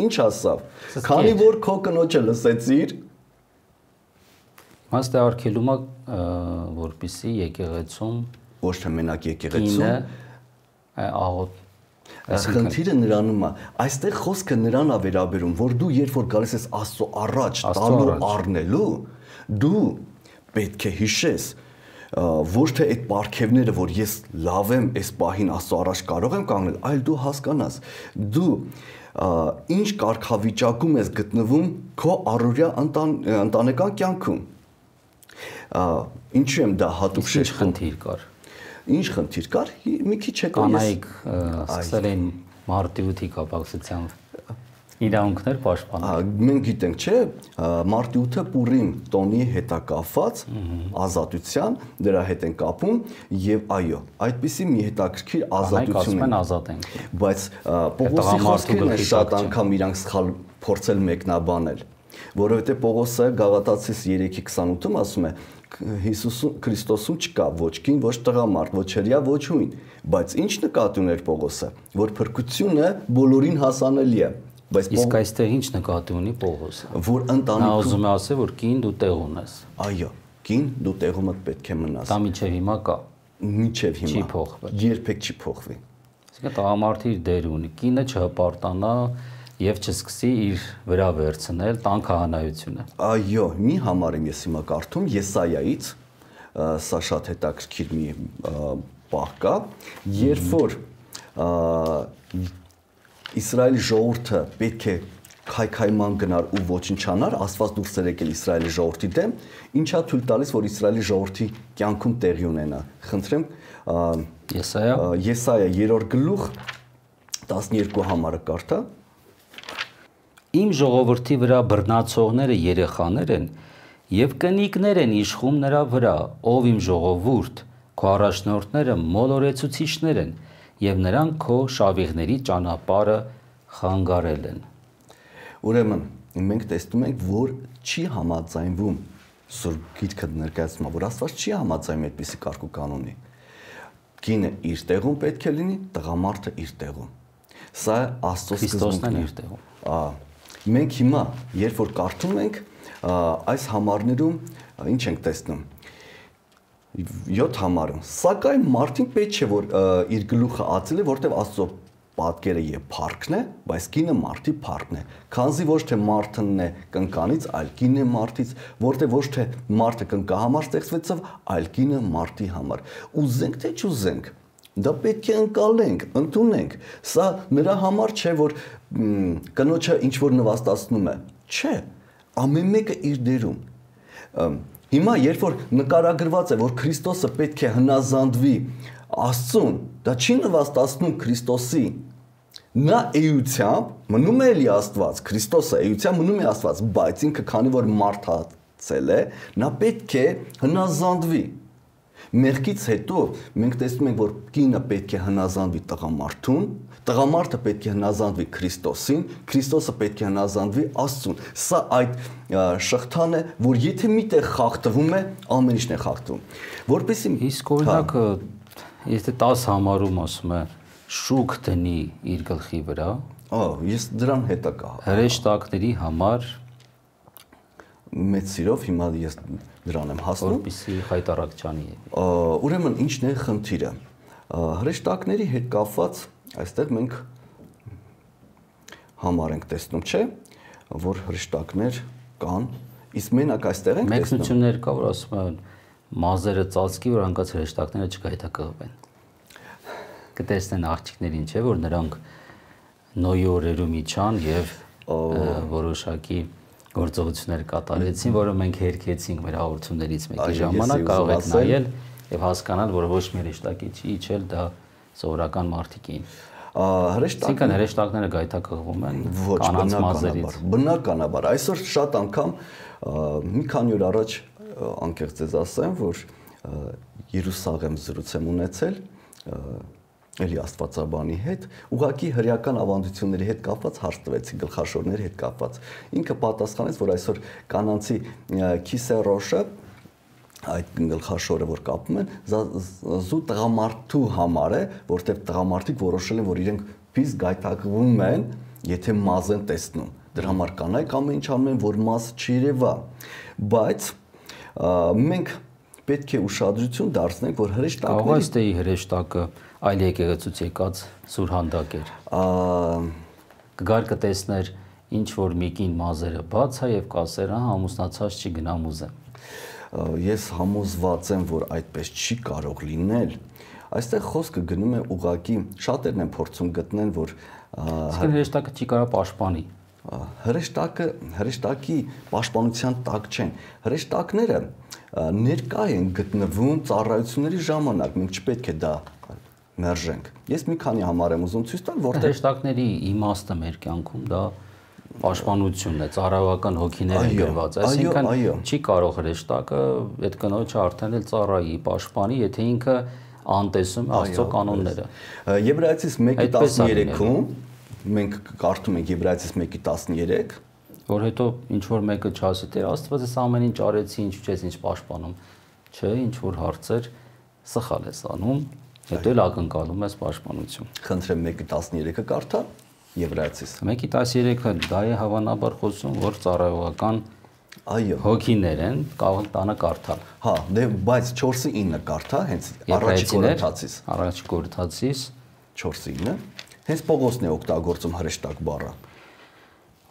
Speaker 2: ինչ ասավ, քանի որ քո կնոջը լսեցիր,
Speaker 1: Մաս դե արգելում է, որպեսզի եկեղեցում
Speaker 2: ոչ թե մենակ եկեղեցում,
Speaker 1: աղոթ
Speaker 2: Խնդիրը նրանում է, այստեղ խոսքը նրան է վերաբերում, որ դու երբ որ գալիս ես Աստծո առաջ տալու առնելու, դու պետք է հիշես, ոչ թե այդ պարգևները, որ ես լավ եմ, այս պահին Աստծո առաջ կարող եմ կանգնել, այլ դու հասկանաս, դու ինչ կարգավիճակում ես գտնվում քո առօրյա ընտանեկան կյանքում։ Ինչու եմ դա հատուկ
Speaker 1: շեշտում։ Խնդիր կար։
Speaker 2: Ինչ խնդիր կար, մի քիչ հետո
Speaker 1: կանայք սկսել են մարտի կապակցությամբ իրավունքներ պաշտպանել։
Speaker 2: Մենք գիտենք, չէ, մարտի ութը Պուրիմ տոնի հետ է կապված, ազատության, դրա հետ են կապում եւ այո, այդպիսի մի հետաքրքիր ազատություն
Speaker 1: են ազատ են։
Speaker 2: Բայց Պողոսի խոսքերն են շատ անգամ իրանք սխալ փորձել մեկնաբանել, որովհետեւ Պողոսը Գաղատացիս երեքի քսանութում ասում է Հիսուսում Քրիստոսում չկա ոչ կին, ոչ տղամարդ, ոչ հրյա, ոչ հույն, բայց ինչ նկատի ուներ Պողոսը, որ փրկությունը բոլորին հասանելի է, բայց
Speaker 1: իսկ այստեղ ինչ նկատի ունի Պողոսը,
Speaker 2: որ ընտանիքում
Speaker 1: նա ուզում է ասել, որ կին դու տեղ ունես։
Speaker 2: Այո, կին դու տեղումդ պետք է մնաս։
Speaker 1: Դա միջև հիմա կա։
Speaker 2: Միջև հիմա
Speaker 1: չի փոխվել։
Speaker 2: Երբեք չի փոխվի։
Speaker 1: Իսկ տղամարդը իր դեր ունի, կինը չհպարտանա եւ չսկսի իր վրա վերցնել տան քահանայությունը։
Speaker 2: Այո, մի համար եմ ես հիմա կարդում Եսայայից, սա շատ հետաքրքիր մի պահ կա, երբ որ Իսրայելի ժողովուրդը պետք է քայքայման գնար ու ոչնչանար, Աստված դուրս էր եկել Իսրայելի ժողովրդի դեմ, ինչա թույլ տալիս, որ Իսրայելի ժողովրդի կյանքում տեղի ունենա։ Խնդրեմ,
Speaker 1: Եսայա
Speaker 2: Եսայա երրորդ գլուխ տասներկու համարը կարդա։
Speaker 1: Իմ ժողովրդի վրա բռնացողները երեխաներ են եւ կնիկներ են իշխում նրա վրա, ով իմ ժողովուրդ, քո առաջնորդները մոլորեցուցիչներ են եւ նրանք քո շավիղների ճանապարհը խանգարել են։
Speaker 2: Ուրեմն մենք տեսնում ենք, որ չի համաձայնվում Սուրբ Գիրքը ներկայացնում, որ Աստված չի համաձայնում այդպիսի կարգ ու կանոնի։ Կինը իր տեղում պետք է լինի, տղամարդը իր տեղում։ Սա Աստծո
Speaker 1: սկզբունքն է իր տեղում։
Speaker 2: Ահա Մենք հիմա, երբ որ կարդում ենք, այս համարներում ինչ ենք տեսնում։ յոթ համարում, սակայն մարդին պետք չէ, որ իր գլուխը ածել է, որտեղ Աստծո պատկերը եւ փառքն է, բայց կինը մարդի փառքն է։ Քանզի ոչ թե մարդն է կնկանից, այլ կինն է մարդից, որտեղ ոչ թե մարդը կնկա համար ստեղծվեցավ, այլ կինը մարդի համար։ Ուզենք թե չուզենք, դա պետք է ընկալենք, ընդունենք։ Սա նրա համար չէ, որ կնոջը ինչ որ նվաստացնում է։ Չէ, ամեն մեկը իր դերում։ Հիմա երբ որ նկարագրված է, որ Քրիստոսը պետք է հնազանդվի Աստծուն, դա չի նվաստացնում Քրիստոսի։ Նա էությամբ մնում է էլի Աստված, Քրիստոսը էությամբ մնում է Աստված, բայց ինքը քանի որ մարդացել է, նա պետք է հնազանդվի։ Մեղքից հետո մենք տեսնում ենք, որ կինը պետք է հնազանդվի տղամարդուն, տղամարդը պետք է հնազանդվի Քրիստոսին, Քրիստոսը պետք է հնազանդվի Աստծուն։ Սա այդ շղթան է, որ եթե միտեղ խախտվում է, ամեն ինչն է խախտվում։ Որպեսզի
Speaker 1: իսկ օրինակ եթե տասը համարում ասում է շուք դնի իր գլխի վրա,
Speaker 2: ահա ես դրան հետա կա։
Speaker 1: հրեշտակների համար
Speaker 2: մեծ սիրով հիմա ես դրան եմ հասնում,
Speaker 1: որպեսզի խայտարակչանի։
Speaker 2: Ուրեմն ինչն է խնդիրը։ Հրեշտակների հետ կապված այստեղ մենք համար ենք տեսնում, չէ, որ հրեշտակներ կան, իսկ մենակ այստեղ ենք տեսնում։
Speaker 1: Մեկնություններ կա, որ ասում են մազերը ծածկի, որ հանկած հրեշտակները չգայթակղվեն։ Կտեսնեն աղջիկներին, չէ, որ նրանք Նոյի օրերում իջան եւ որոշակի գործողություններ կատարեցին, որը մենք հերքեցինք մեր հաղորդումներից մեկի ժամանակ, կարող եք նայել եւ հասկանալ, որ ոչ մի հրեշտակի չի իջել, դա սովորական մարդիկ էին։ Հրեշտակները հրեշտակները գայթակղվում են կանանց մազերից։
Speaker 2: Բնականաբար, այսօր շատ անգամ մի քանի օր առաջ անկեղծ ձեզ ասեմ, որ Երուսաղեմ զրույց եմ ունեցել էլի աստվածաբանի հետ, ուղղակի հրեական ավանդությունների հետ կապված հարց տվեցի, գլխաշորների հետ կապված։ Ինքը պատասխանեց, որ այսօր կանանցի քիսերոշը, այդ գլխաշորը, որ կապում են, զու տղամարդու համար է, որտեղ տղամարդիկ որոշել են, որ իրենք փիս գայթակղվում են, եթե մազ են տեսնում։ Դրա համար կանայք ամեն ինչ անում են, որ մազ չերևա։ Բայց մենք պետք է ուշադրություն դարձնենք, որ հրեշտակների
Speaker 1: Կարող է ստեի հրեշտակը այլ եկեղեցուց եկած սուրհանդակ էր։ Կգար կտեսներ ինչ որ մի կին մազերը բաց է եւ կասեր, հա, ամուսնացած չի գնամ ուզեմ։
Speaker 2: Ես համոզված եմ, որ այդպես չի կարող լինել։ Այստեղ խոսքը գնում է ուղակի, շատերն են փորձում գտնել, որ
Speaker 1: հրեշտակը չի կարող պաշտպանի։
Speaker 2: Հրեշտակը հրեշտակի պաշտպանության տակ չեն։ Հրեշտակները ներկա են գտնվում ծառայությունների ժամանակ, մենք չպետք է դա մերժենք։ Ես մի քանի համար եմ ուզում ցույց տալ, որտեղ
Speaker 1: հրեշտակների իմաստը մեր կյանքում դա պաշտպանությունն է, ծառայական հոգիներ են գրված, այսինքն չի կարող հրեշտակը այդ կնոջը արդեն էլ ծառայի, պաշտպանի, եթե ինքը անտեսում է Աստծո կանոնները։
Speaker 2: Եբրայեցիս մեկի տասներեքում մենք կարդում ենք Եբրայեցիս մեկի տասներեք,
Speaker 1: որ հետո ինչ որ մեկը չասի, Տեր Աստված էս ամեն ինչ արեցի, ինչ չես ինչ պաշտպանում։ Չէ, ինչ որ հարցեր սխալ ես անում, հետո էլ ակնկալում ես պաշտպանություն։
Speaker 2: Խնդրեմ մեկի տասներեքը կարդա Եբրայեցիս։
Speaker 1: մեկի տասներեքը դա է հավանաբար խոսում, որ ծառայողական
Speaker 2: այո
Speaker 1: հոգիներ են, կարող տանը կարդալ։
Speaker 2: Հա, դե բայց չորսի ինը կարդա, հենց առաջի Կորինթացիս։
Speaker 1: Առաջի Կորինթացիս
Speaker 2: չորսի ինը, հենց Պողոսն է օգտագործում հրեշտակ բառը։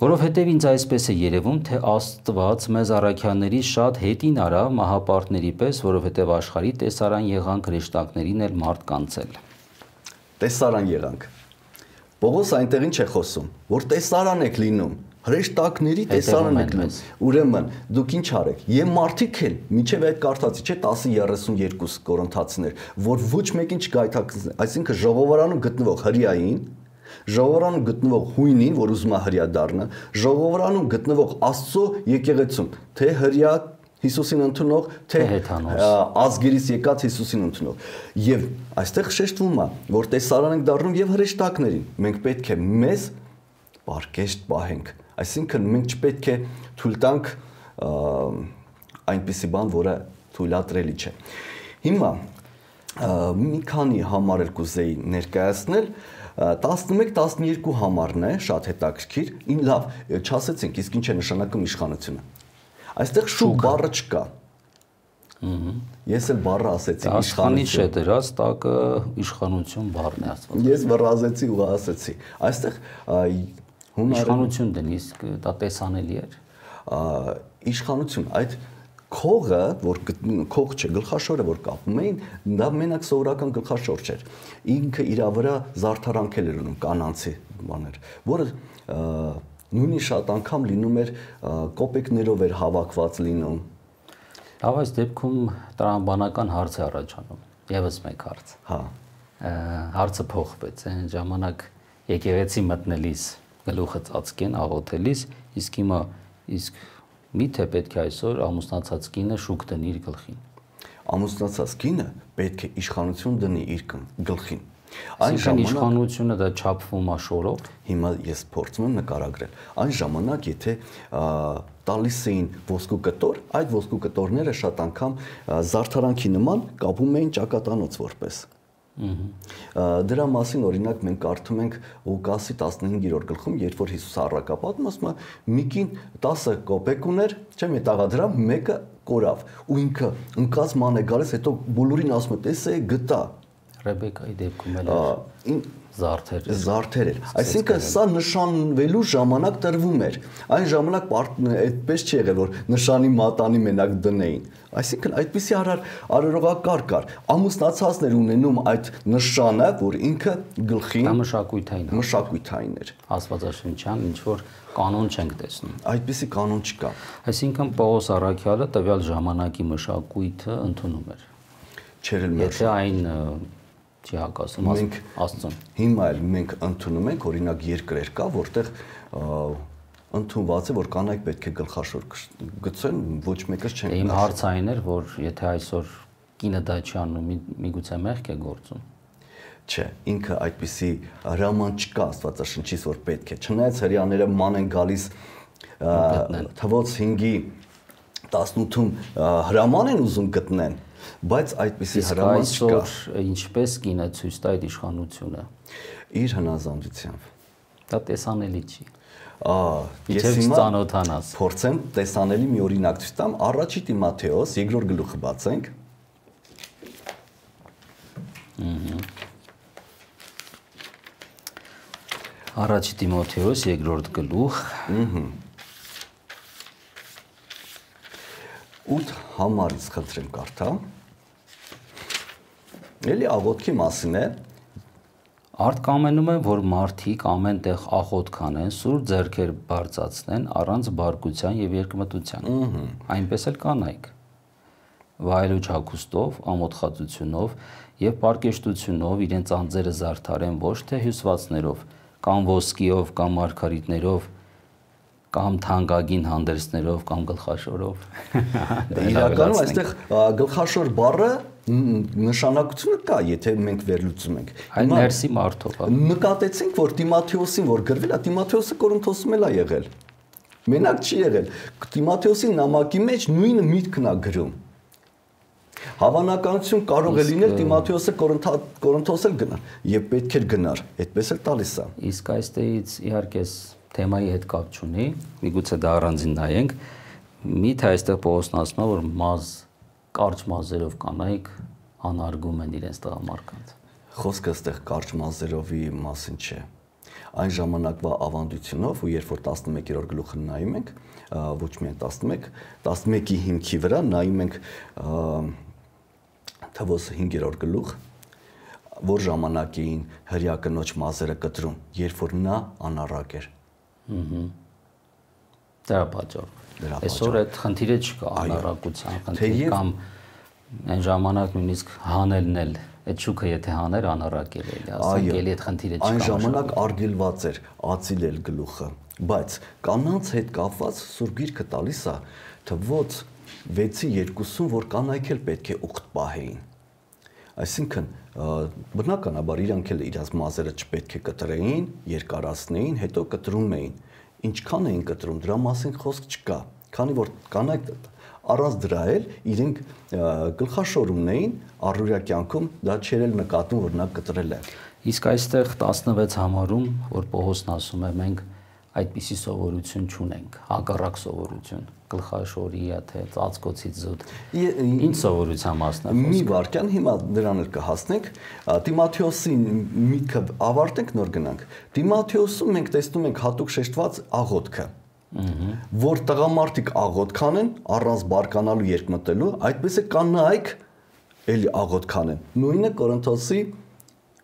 Speaker 1: Որովհետև ինձ այսպես է երևում, թե Աստված մեզ առաքյալների շատ հետին արա մահապարտների պես, որովհետև աշխարհի տեսարան եղանք հրեշտակներին էլ մարդ կանցել։
Speaker 2: Տեսարան եղանք։ Պողոս այնտեղ ինչ է խոսում, որ տեսարան եք լինում, հրեշտակների տեսարան եք լինում։ Ուրեմն դուք ինչ արեք։ Եվ մարդիկ էլ, միջև այդ կարդացի, չէ, տասը երեսունյոթ Կորինթացիներ, որ ոչ մեկին չգայթակղեն, այսինքն ժողովրանում գտնվող հրեային, ժողովրանում գտնվող հույնին, որ ուզում է հրյա դառնա, ժողովրանում գտնվող Աստծո եկեղեցում, թե հրյա Հիսուսին ընդունող, թե ազգերից եկած Հիսուսին ընդունող։ Եվ այստեղ շեշտվում է, որ տեսարան ենք դառնում եւ հրեշտակներին։ Մենք պետք է մեզ պարկեշտ պահենք։ Այսինքն մենք չպետք է թույլ տանք այնպիսի բան, որը թույլատրելի չէ։ Հիմա մի քանի համարել կուզեի ներկայացնել, տասնմեկ տասներկու համարն է, շատ հետաքրքիր։ Ին լավ, չասեցինք, իսկ ինչ է նշանակում իշխանությունը։ Այստեղ շուք բառը չկա։ Ես էլ բառը ասեցի
Speaker 1: իշխանից չէ դրած, տակը իշխանություն բառն է Աստված։
Speaker 2: Ես վռազեցի ու ասեցի։ Այստեղ
Speaker 1: իշխանություն դնի, իսկ դա տեսանելի էր։
Speaker 2: Իշխանություն, այդ քողը, որ քող չէ, գլխաշորը որ կապում էին, դա մենակ սովորական գլխաշոր չէր։ Ինքը իր վրա զարդարանքել էր ունում կանանցի բաներ, որը նույնիսկ շատ անգամ լինում էր կոպեկներով էր հավաքված լինում։
Speaker 1: Լավ, այս դեպքում տրամաբանական հարց է առաջանում, եւս մեկ հարց։
Speaker 2: Հա։
Speaker 1: Հարցը փոխվեց, այն ժամանակ եկեղեցի մտնելիս գլուխը ծածկեն աղոթելիս, իսկ հիմա իսկ միթե պետք է այսօր ամուսնացած կինը շուք դնի իր գլխին։
Speaker 2: Ամուսնացած կինը պետք է իշխանություն դնի իր գլխին։
Speaker 1: Այն ժամանակ իշխանությունը դա չափվում է շորով։
Speaker 2: Հիմա ես փորձում եմ նկարագրել։ Այն ժամանակ եթե տալիս էին ոսկու կտոր, այդ ոսկու կտորները շատ անգամ զարդարանքի նման կապում էին ճակատանոց որպես։ Դրա մասին օրինակ մենք կարդում ենք Ղուկասի տասնհինգերորդ գլխում, երբ որ Հիսուսը առաքապատում ասում է մի կին տասը կոպեկ ուներ, չէ՞ մետաղադրամ, մեկը կորավ ու ինքը ընկած ման է գալիս, հետո բոլորին ասում է տեսե գտա։
Speaker 1: Ռեբեկայի դեպքում էլ զարդեր
Speaker 2: զարդեր էր։ Այսինքն սա նշանվելու ժամանակ տրվում էր։ Այն ժամանակ այդպես չի եղել, որ նշանի մատանի մենակ դնեին։ Այսինքն այդպիսի արարողակարգ կար։ Ամուսնացածներ ունենում այդ նշանը, որ ինքը գլխին
Speaker 1: դա մշակույթային
Speaker 2: մշակույթային էր։
Speaker 1: Աստվածաշնչյան ինչ որ կանոն չենք տեսնում։
Speaker 2: Այդպիսի կանոն չկա։
Speaker 1: Այսինքն Պողոս առաքյալը տվյալ ժամանակի մշակույթը ընդունում էր։
Speaker 2: Չէր էլ
Speaker 1: Եթե այն չի հակասում Աստծուն։
Speaker 2: Հիմա էլ մենք ընդունում ենք, օրինակ երկրեր կա, որտեղ ընդունված է, որ կանայք պետք է գլխաշոր գցեն, ոչ մեկս չեն։
Speaker 1: Իմ հարցը այն էր, որ եթե այսօր կինը դա չի անում, միգուցե մեղք է գործում։
Speaker 2: Չէ, ինքը այդպիսի հրաման չկա Աստվածաշնչից, որ պետք է։ Չնայած հрьяաները ման են գալիս թվոց հինգի տասնութում հրաման են ուզում գտնեն, բայց այդպիսի հրաման չկա։
Speaker 1: Այսօր ինչպես կինը ցույց տա այդ իշխանությունը։
Speaker 2: Իր հնազանդությամբ։
Speaker 1: Դա տեսանելի չի։
Speaker 2: Ես հիմա
Speaker 1: ծանոթանաս։
Speaker 2: Փորձեմ տեսանելի մի օրինակ ցույց տամ, առաջի Տիմոթեոս երկրորդ գլուխը բացենք։
Speaker 1: Առաջի Տիմոթեոս երկրորդ գլուխ։
Speaker 2: ութ համարից խնդրեմ կարդա։ Էլի աղոթքի մասին է։
Speaker 1: Արդ կամենում եմ, որ մարդիկ ամեն տեղ աղոթ կանեն, սուր ձեռքեր բարձրացնեն առանց բարկության եւ երկմտության։ Այնպես էլ կանայք։ Վայելուչ հագուստով, ամոթխածությունով եւ պարկեշտությունով իրենց անձերը զարդարեն ոչ թե հյուսվածներով, կամ ոսկիով, կամ մարգարիտներով, կամ թանկագին հանդերձներով, կամ գլխաշորով։
Speaker 2: Իրականում այստեղ գլխաշոր բառը նշանակությունը կա, եթե մենք վերլուծում ենք։
Speaker 1: Այն ներսի մարդով է։
Speaker 2: Նկատեցինք, որ Տիմոթեոսին որ գրվել է, Տիմոթեոսը Կորինթոսում էլ է եղել։ Մենակ չի եղել։ Տիմոթեոսի նամակի մեջ նույն միտքն է գրում։ Հավանականություն կարող է լինել Տիմոթեոսը Կորինթոս էլ գնար, եւ պետք էր գնար, այդպես էլ տալիս է։
Speaker 1: Իսկ այստեղից իհարկե թեմայի հետ կապ չունի, միգուցե դա առանձին նայենք։ Միթե այստեղ Պողոսն ասում է, որ մազ կարճ մազերով կանայք անարգում են իրենց տղամարդկանց։
Speaker 2: Խոսքը այստեղ կարճ մազերովի մասին չէ։ Այն ժամանակվա ավանդությունով ու երբ որ տասնմեկերորդ գլուխը նայում ենք, ոչ միայն տասնմեկ, տասնմեկի հիմքի վրա նայում ենք թվոս հինգերորդ գլուխ, որ ժամանակին հրյա կնոջ մազերը կտրում, երբ որ նա անառակ էր։
Speaker 1: Դրա պատճառով։ Այսօր այդ խնդիրը չկա, անառակության խնդիր կամ այն ժամանակ նույնիսկ հանելն էլ, այդ շուքը եթե հաներ անառակ էր, ասենք էլի այդ խնդիրը չկա։
Speaker 2: Այն ժամանակ արգելված էր ածիլել գլուխը, բայց կանանց հետ կապված Սուրբ Գիրքը տալիս է թվոց վեցի երկուսում, որ կանայք էլ պետք է ուխտ պահեին։ Այսինքն բնականաբար իրանք էլ իրաց մազերը չպետք է կտրեին, երկարացնեին, հետո կտրում էին։ Ինչքան էին կտրում, դրա մասին խոսք չկա, քանի որ կանայք առանց դրա էլ իրենք գլխաշոր ունեին, առօրյա կյանքում դա չէր էլ նկատում, որ նա կտրել է։
Speaker 1: Իսկ այստեղ տասնվեց համարում, որ Պողոսն ասում է, մենք այդպիսի սովորություն չունենք, հակառակ սովորություն, գլխաշորի, թե ծածկոցից զուտ։ Ինչ սովորության մասն է խոսքը։
Speaker 2: Մի վարքյան հիմա դրան էլ կհասնենք, Տիմոթեոսի միտքը ավարտենք, նոր գնանք։ Տիմոթեոսում մենք տեսնում ենք հատուկ շեշտված աղոթքը, որ տղամարդիկ աղոթք անեն առանց բարկանալու երկմտելու, այդպես է կանայք էլի աղոթք անեն։ Նույնը Կորինթոսի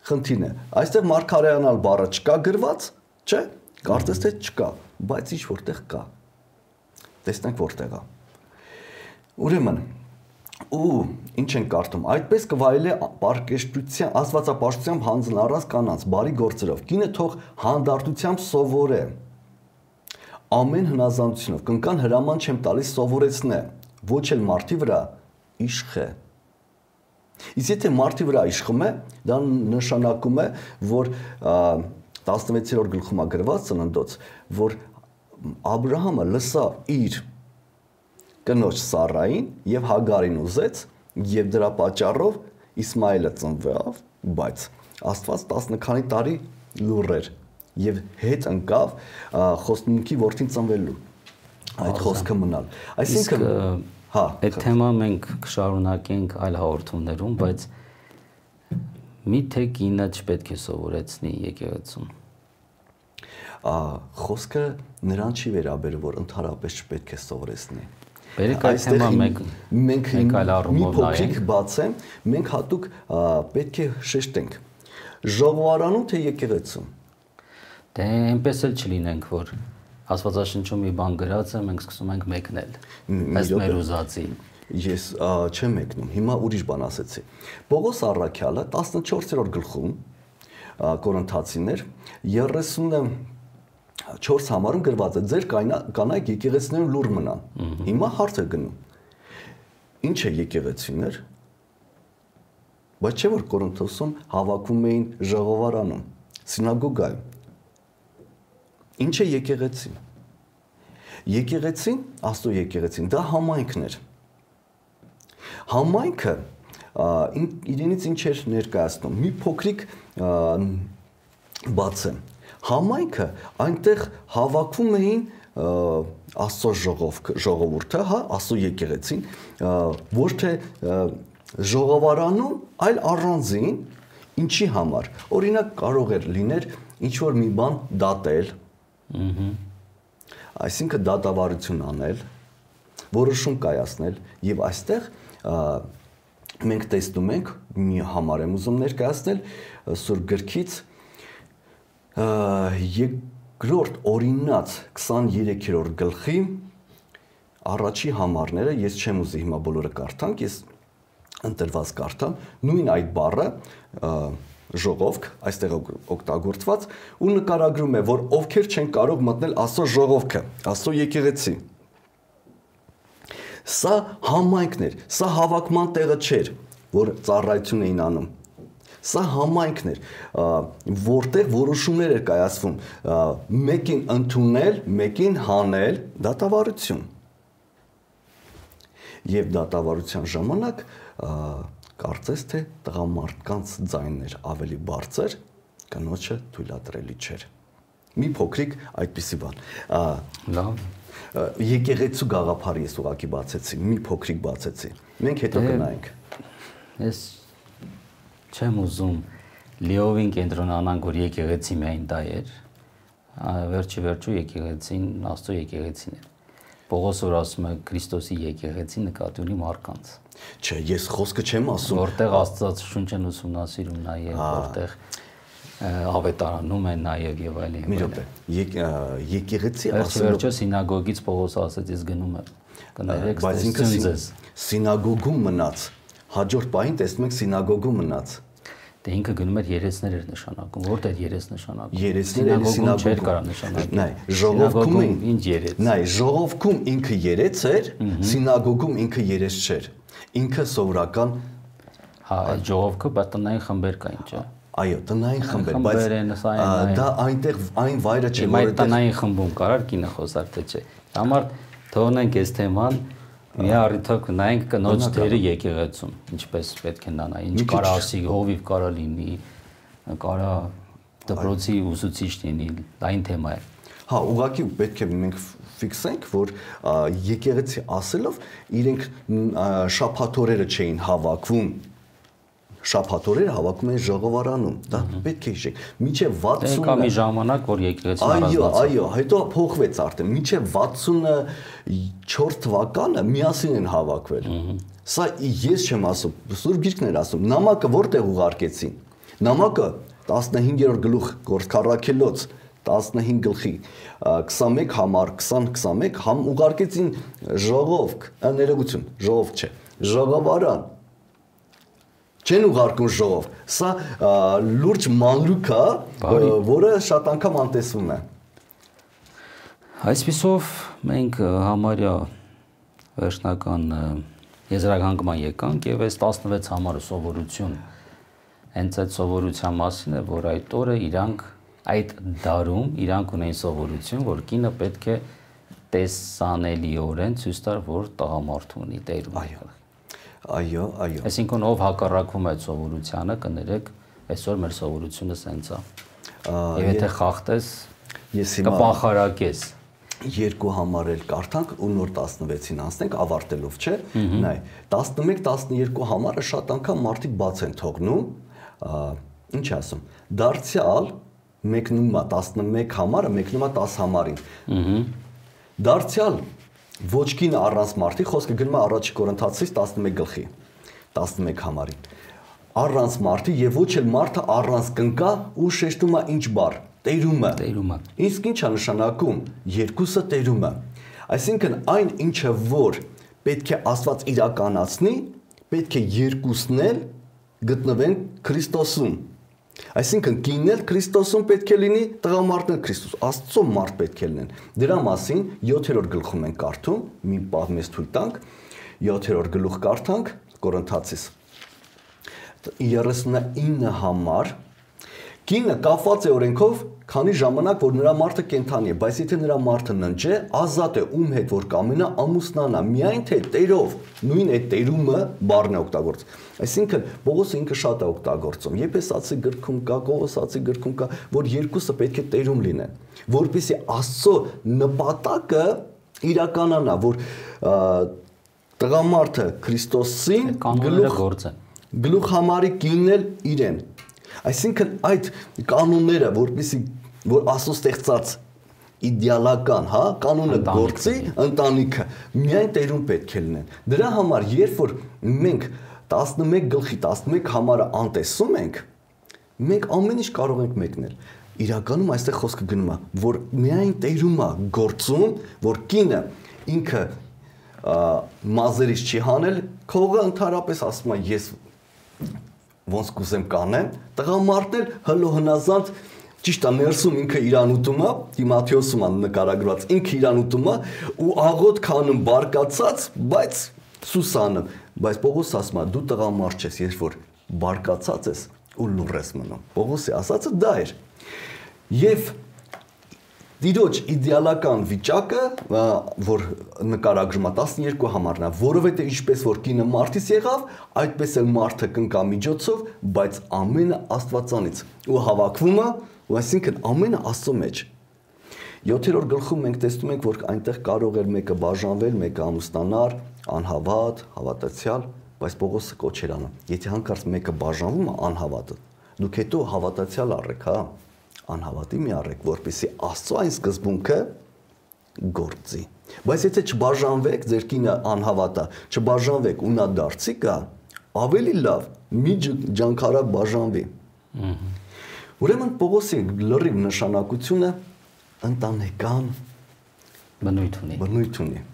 Speaker 2: խնդիրն է։ Այստեղ մարգարեանալ բառը չկա գրված, չէ՞։ Կարծես թե չկա, բայց ինչ որտեղ կա։ Տեսնենք որտեղ է։ Ուրեմն, ու ինչ են կարդում, այդպես կվայելե պարկեշտության, աստվածապաշտությամբ հանձն առած կանանց, բարի գործերով, կինը թող հանդարտությամբ սովորե, ամեն հնազանդությունով, կնկան հրաման չեմ տալիս սովորեցնե, ոչ էլ մարդի վրա իշխե։ Իսկ եթե մարդի վրա իշխում է, դա նշանակում է, որ տասնվեցերորդ գլխում է գրված Ծննդոց, որ Աբրահամը լսավ իր կնոջ Սառային եւ Հագարին ուզեց եւ դրա պատճառով Իսմայելը ծնվավ, բայց Աստված տասն քանի տարի լուռ էր եւ հետ ընկավ խոստմունքի որդին ծնվելու այդ խոսքը մնալ։ Այսինքն հա,
Speaker 1: այդ թեման մենք կշարունակենք այլ հաղորդումներում, բայց միթե կինը չպետք է սովորեցնի եկեղեցում։
Speaker 2: Խոսքը նրան չի վերաբերում, որ ընդհանրապես չպետք է սովորեցնի։
Speaker 1: Բերեք այդ թեման մենք
Speaker 2: մենք այլ առումով նայենք, բացեմ, մենք հատուկ պետք է շեշտենք։ Ժողովարանում թե եկեղեցում։
Speaker 1: Դե այնպես էլ չլինենք, որ Աստվածաշնչում մի բան գրած է, մենք սկսում ենք մեկնել։ Ըստ մեր ուզածի։
Speaker 2: Ես չեմ մեկնում, հիմա ուրիշ բան ասեցի։ Պողոս առաքյալը տասնչորսերորդ գլխում Կորինթացիներ երեսունչորս համարում գրված է ձեր կանայք եկեղեցիներում լուռ մնան։ Հիմա հարց է գնում։ Ինչ է եկեղեցիներ։ Բայց չէ որ Կորինթոսում հավաքվում էին ժողովարանում, սինագոգայում։ Ինչ է եկեղեցին։ Եկեղեցին, Աստծո եկեղեցին, դա համայնքն էր։ Համայնքը իրենից ինչ էր ներկայացնում։ Մի փոքրիկ բաց է։ Համայնքը այնտեղ հավաքվում էին Աստծո ժողովուրդը, հա, Աստծո եկեղեցին, ոչ թե ժողովարանում, այլ առանձին, ինչի համար։ Օրինակ կարող էր լիներ ինչ որ մի բան դատել, այսինքն դատավարություն անել, որոշում կայացնել եւ այստեղ մենք տեսնում ենք մի համար եմ ուզում ներկայացնել Սուրբ գրքից երկրորդ օրինաց քսաներեքերորդ գլխի առաջի համարները ես չեմ ուզի հիմա բոլորը կարդանք, ես ընտրված կարդամ, նույն այդ բառը ժողովք այստեղ օգտագործված ու նկարագրում է, որ ովքեր չեն կարող մտնել Աստծո ժողովքը, Աստծո եկեղեցի։ Սա համայնքն էր, սա հավաքման տեղը չէր, որ ծառայություն էին անում։ Սա համայնքն էր, որտեղ որոշումներ էր կայացվում, մեկին ընդունել, մեկին հանել, դատավարություն։ Եվ դատավարության ժամանակ կարծես թե տղամարդկանց ձայնն էր ավելի բարձր, կնոջը թույլատրելի չէր։ Մի փոքրիկ այդպիսի բան։
Speaker 1: Լավ։
Speaker 2: Եկեղեցու գաղափարը ես ուղղակի բացեցի, մի փոքրիկ բացեցի։ Մենք հետո կնայենք։
Speaker 1: Ես չեմ ուզում լիովին կենտրոնանանք, որ եկեղեցի միայն դա էր։ Վերջի վերջու եկեղեցին Աստծո եկեղեցին էր։ Պողոս որ ասում է Քրիստոսի եկեղեցի նկատի ունի մարդկանց։
Speaker 2: Չէ, ես խոսքը չեմ ասում։
Speaker 1: Որտեղ Աստծաշունչ են ուսումնասիրում նաև, որտեղ ավետարանում են նաև եւ այլն։
Speaker 2: Մի րոպե, եկեղեցի
Speaker 1: ասում։ Վերջը սինագոգից Պողոս ասեց, ես գնում եմ։ Կներեք,
Speaker 2: բայց ինքը սինագոգում մնաց։ Հաջորդ պահին տեսնում ենք սինագոգում մնաց։
Speaker 1: Դե ինքը գնում էր երեսներ էր նշանակում, որտեղ երես նշանակում։
Speaker 2: Երեսներ սինագոգում
Speaker 1: չէր կարող նշանակել։
Speaker 2: Նայ, ժողովքում
Speaker 1: ինչ երես։
Speaker 2: Նայ, ժողովքում ինքը երես էր, սինագոգում ինքը երես չէր։ Ինքը սովորական
Speaker 1: հա, ժողովքը, բայց տնային խմբեր կային, չէ։
Speaker 2: Այո, տնային խմբեր, բայց դա այնտեղ այն վայրը չէ,
Speaker 1: որ տնային խմբում կարար կինը խոսար, թե չէ։ Համար թողնենք այս թեման, մի առիթով նայենք կնոջ դերը եկեղեցում, ինչպես պետք է նա նայ, ինչ կարա ասի, հովիվ կարա լինի, կարա դպրոցի ուսուցիչ լինի, դա այն թեմա է։
Speaker 2: Հա, ուղղակի պետք է մենք ֆիքսենք, որ եկեղեցի ասելով իրենք շաբաթօրերը չէին հավաքվում, շաբաթօրերը հավաքում են ժողովարանում, դա պետք է հիշենք։ Մինչև վաթսուն
Speaker 1: Կա մի ժամանակ, որ եկեղեցին առանձնացավ։
Speaker 2: Այո, այո, հետո փոխվեց արդեն։ Մինչև վաթսունչորս թվականը միասին են հավաքվել։ Սա ես չեմ ասում, Սուրբ Գիրքն էր ասում։ Նամակը որտեղ ուղարկեցին։ Նամակը տասնհինգերորդ գլուխ Գործք առաքելոց տասնհինգ գլխի քսանմեկ համար քսան քսանմեկ համ ուղարկեցին ժողովք, ներողություն, ժողովք չէ, ժողովարան։ Չեն ուղարկում ժողով։ Սա լուրջ մանրուք է, որը շատ անգամ անտեսվում է։
Speaker 1: Այսպիսով մենք համարյա վերջնական եզրահանգման եկանք եւ այս տասնվեց համարը սովորություն հենց այդ սովորության մասին է, որ այդ օրը իրանք այդ դարում իրանք ունեն սովորություն, որ կինը պետք է տեսանելիորեն ցույց տար, որ տղամարդու ունի տերում։
Speaker 2: Այո։ Այո, այո։
Speaker 1: Այսինքն ով հակառակվում է այդ սովորությանը, կներեք, այսօր մեր սովորությունը սենց է։ Եվ եթե խախտես,
Speaker 2: ես հիմա
Speaker 1: կպախարակես։
Speaker 2: Երկու համարել կարդանք ու նոր տասնվեցին անցնենք ավարտելով, չէ՞։ Նայ, տասնմեկ տասներկու համարը շատ անգամ մարդիկ բաց են թողնում, ինչ ասում, դարձյալ մեկնում է տասնմեկ համարը, մեկնում է տասը համարին։ Դարձյալ ոչ կինը առանց մարդի, խոսքը գնում է առաջի Կորինթացիս տասնմեկ գլխի, տասնմեկ համարին։ Առանց մարդի եւ ոչ էլ մարդը առանց կնկա ու շեշտում է ինչ բառ, տերումը։
Speaker 1: Տերումը։
Speaker 2: Իսկ ինչ է նշանակում, երկուսը տերումը։ Այսինքն այն ինչը որ պետք է Աստված իրականացնի, պետք է երկուսն էլ գտնվեն Քրիստոսում։ Այսինքն կինն էլ Քրիստոսում պետք է լինի, տղամարդն էլ Քրիստոս, Աստծո մարդ պետք է լինեն։ Դրա մասին յոթերորդ գլխում ենք կարդում, մի պահ մեզ թույլ տանք, յոթերորդ գլուխ կարդանք Կորինթացիս երեսունինը համար կինը կապված է օրենքով, քանի ժամանակ որ նրա մարդը կենդանի է, բայց եթե նրա մարդը ննջ է, ազատ է ում հետ որ կամենա ամուսնանա, միայն թե տերով, նույն այդ տերումը բառն է օգտագործում։ Այսինքն Պողոսը ինքը շատ է օգտագործում։ Եփեսացի գրքում կա, Կողոսացի գրքում կա, որ երկուսը պետք է տերում լինեն, որպեսզի Աստծո նպատակը իրականանա, որ տղամարդը Քրիստոսին
Speaker 1: գլուխ
Speaker 2: գլուխ համարի կինն էլ իրեն։ Այսինքն այդ կանոնները, որպեսզի որ Աստծո ստեղծած իդեալական, հա, կանոնը գործի, ընտանիքը միայն տերում պետք է լինեն։ Դրա համար երբ որ մենք տասնմեկ գլխի տասնմեկ համարը անտեսում ենք, մենք ամեն ինչ կարող ենք մեկնել։ Իրականում այստեղ խոսքը գնում է, որ միայն տերում է գործում, որ կինը ինքը մազերից չի հանել, քողը ընդհանրապես ասում է ես ոնց կուզեմ կանեմ, տղամարդն էլ հլո հնազանդ ճիշտ է ներսում ինքը իրան ուտում է, Տիմոթեոսում է նկարագրված, ինքը իրան ուտում է ու աղոտ քանում բարկացած, բայց Սուսանում, բայց Պողոս ասում է դու տղամարդ ես, երբ որ բարկացած ես ու լուռ ես մնում։ Պողոսի ասածը դա էր։ Եվ Տիրոջ իդեալական վիճակը, որ նկարագրում է տասներկու համարն է, որովհետև ինչպես որ կինը մարդից եղավ, այդպես էլ մարդը կնկա միջոցով, բայց ամենը Աստվածանից ու հավաքվում է, ու այսինքն ամենը Աստծո մեջ։ յոթերորդ գլխում մենք տեսնում ենք, որ այնտեղ կարող էր մեկը բաժանվել, մեկը ամուսնանար, անհավատ, հավատացյալ, բայց Պողոսը կոչ էր անում։ Եթե հանկարծ մեկը բաժանվում է անհավատը, դուք հետո հավատացյալ առեք, հա։ Անհավատի մի առեք, որպեսզի Աստծո այն սկզբունքը գործի։ Բայց եթե չբաժանվեք, ձեր կինը անհավատա, չբաժանվեք ու նա դարձի կա, ավելի լավ մի ջանքարակ բաժանվի։ Ուրեմն Պողոսի լրիվ նշանակությունը ընտանեկան
Speaker 1: բնույթ ունի։
Speaker 2: Բնույթ ունի։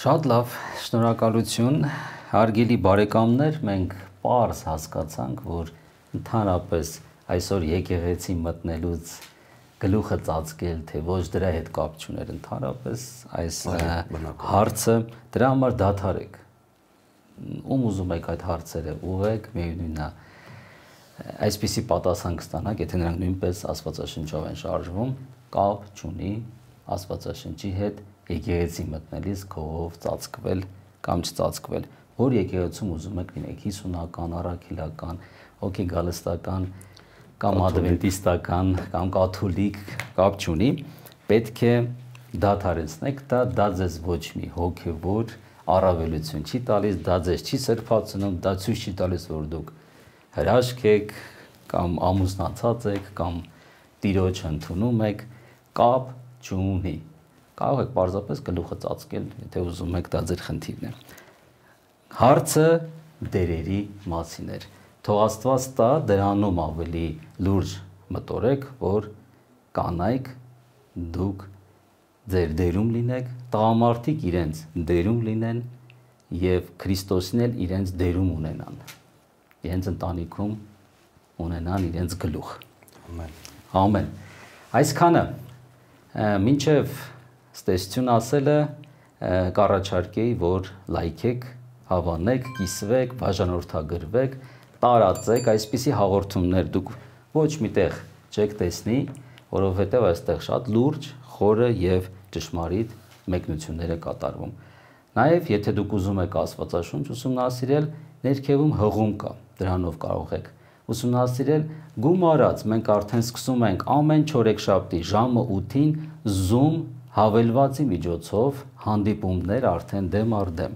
Speaker 1: Շատ լավ, շնորհակալություն, հարգելի բարեկամներ, մենք պարզ հասկացանք, որ ընդհանրապես այսօր եկեղեցի մտնելուց գլուխը ծածկել, թե ոչ դրա հետ կապ չուներ ընդհանրապես այս հարցը, դրա համար դադարեք։ Ում ուզում եք այդ հարցերը ուղղեք, միևնույնն է, այսպիսի պատասխան կստանաք, եթե նրանք նույնպես Աստվածաշնչով են շարժվում, կապ չունի Աստվածաշնչի հետ եկեղեցի մտնելիս քով ծածկվել կամ չծածկվել, որ եկեղեցում ուզում եք լինեք հիսունական, առաքելական, հոգեգալստական կամ ադվենտիստական կամ կաթոլիկ կապ չունի, պետք է դադարեցնեք դա, դա ձեզ ոչ մի հոգևոր առավելություն չի տալիս, դա ձեզ չի սրբացնում, դա ցույց չի տալիս, որ դուք հրաշք եք կամ ամուսնացած եք կամ տիրոջ ընդունում եք, կապ չունի։ Կարող եք պարզապես գլուխը ծածկել, եթե ուզում եք, դա ձեր խնդիրն է։ Հարցը դերերի մասին էր։ Թող Աստված տա դրանում ավելի լուրջ մտորեք, որ կանայք դուք ձեր դերում լինեք, տղամարդիկ իրենց դերում լինեն եւ Քրիստոսին էլ իրենց դերում ունենան։ Իրենց ընտանիքում ունենան իրենց գլուխ։ Ամեն։ Ամեն։ Այսքանը մինչև ստեսություն ասելը կառաջարկեի, որ լայքեք, հավանեք, կիսվեք, բաժանորդագրվեք, տարածեք, այսպիսի հաղորդումներ դուք ոչ միտեղ չեք տեսնի, որովհետև այստեղ շատ լուրջ, խորը եւ ճշմարիտ մեկնություններ է կատարվում։ Նաեւ եթե դուք ուզում եք Աստվածաշունչ ուսումնասիրել, ներքևում հղում կա, դրանով կարող եք ուսումնասիրել գումարած, մենք արդեն սկսում ենք ամեն չորեքշաբթի ժամը ութին Zoom հավելվածի միջոցով հանդիպումներ արդեն դեմ առ դեմ։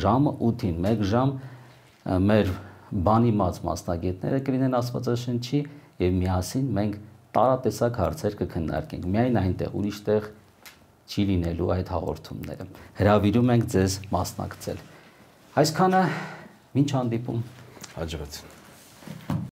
Speaker 1: Ժամը ութին, մեկ ժամ մեր բանիմաց մասնագետները կլինեն Աստվածաշնչի եւ միասին մենք տարատեսակ հարցեր կքննարկենք։ Միայն այնտեղ, ուրիշ տեղ չի լինելու այդ հաղորդումները։ Հրավիրում ենք ձեզ մասնակցել։ Այսքանը, մինչ հանդիպում,
Speaker 2: հաջողություն։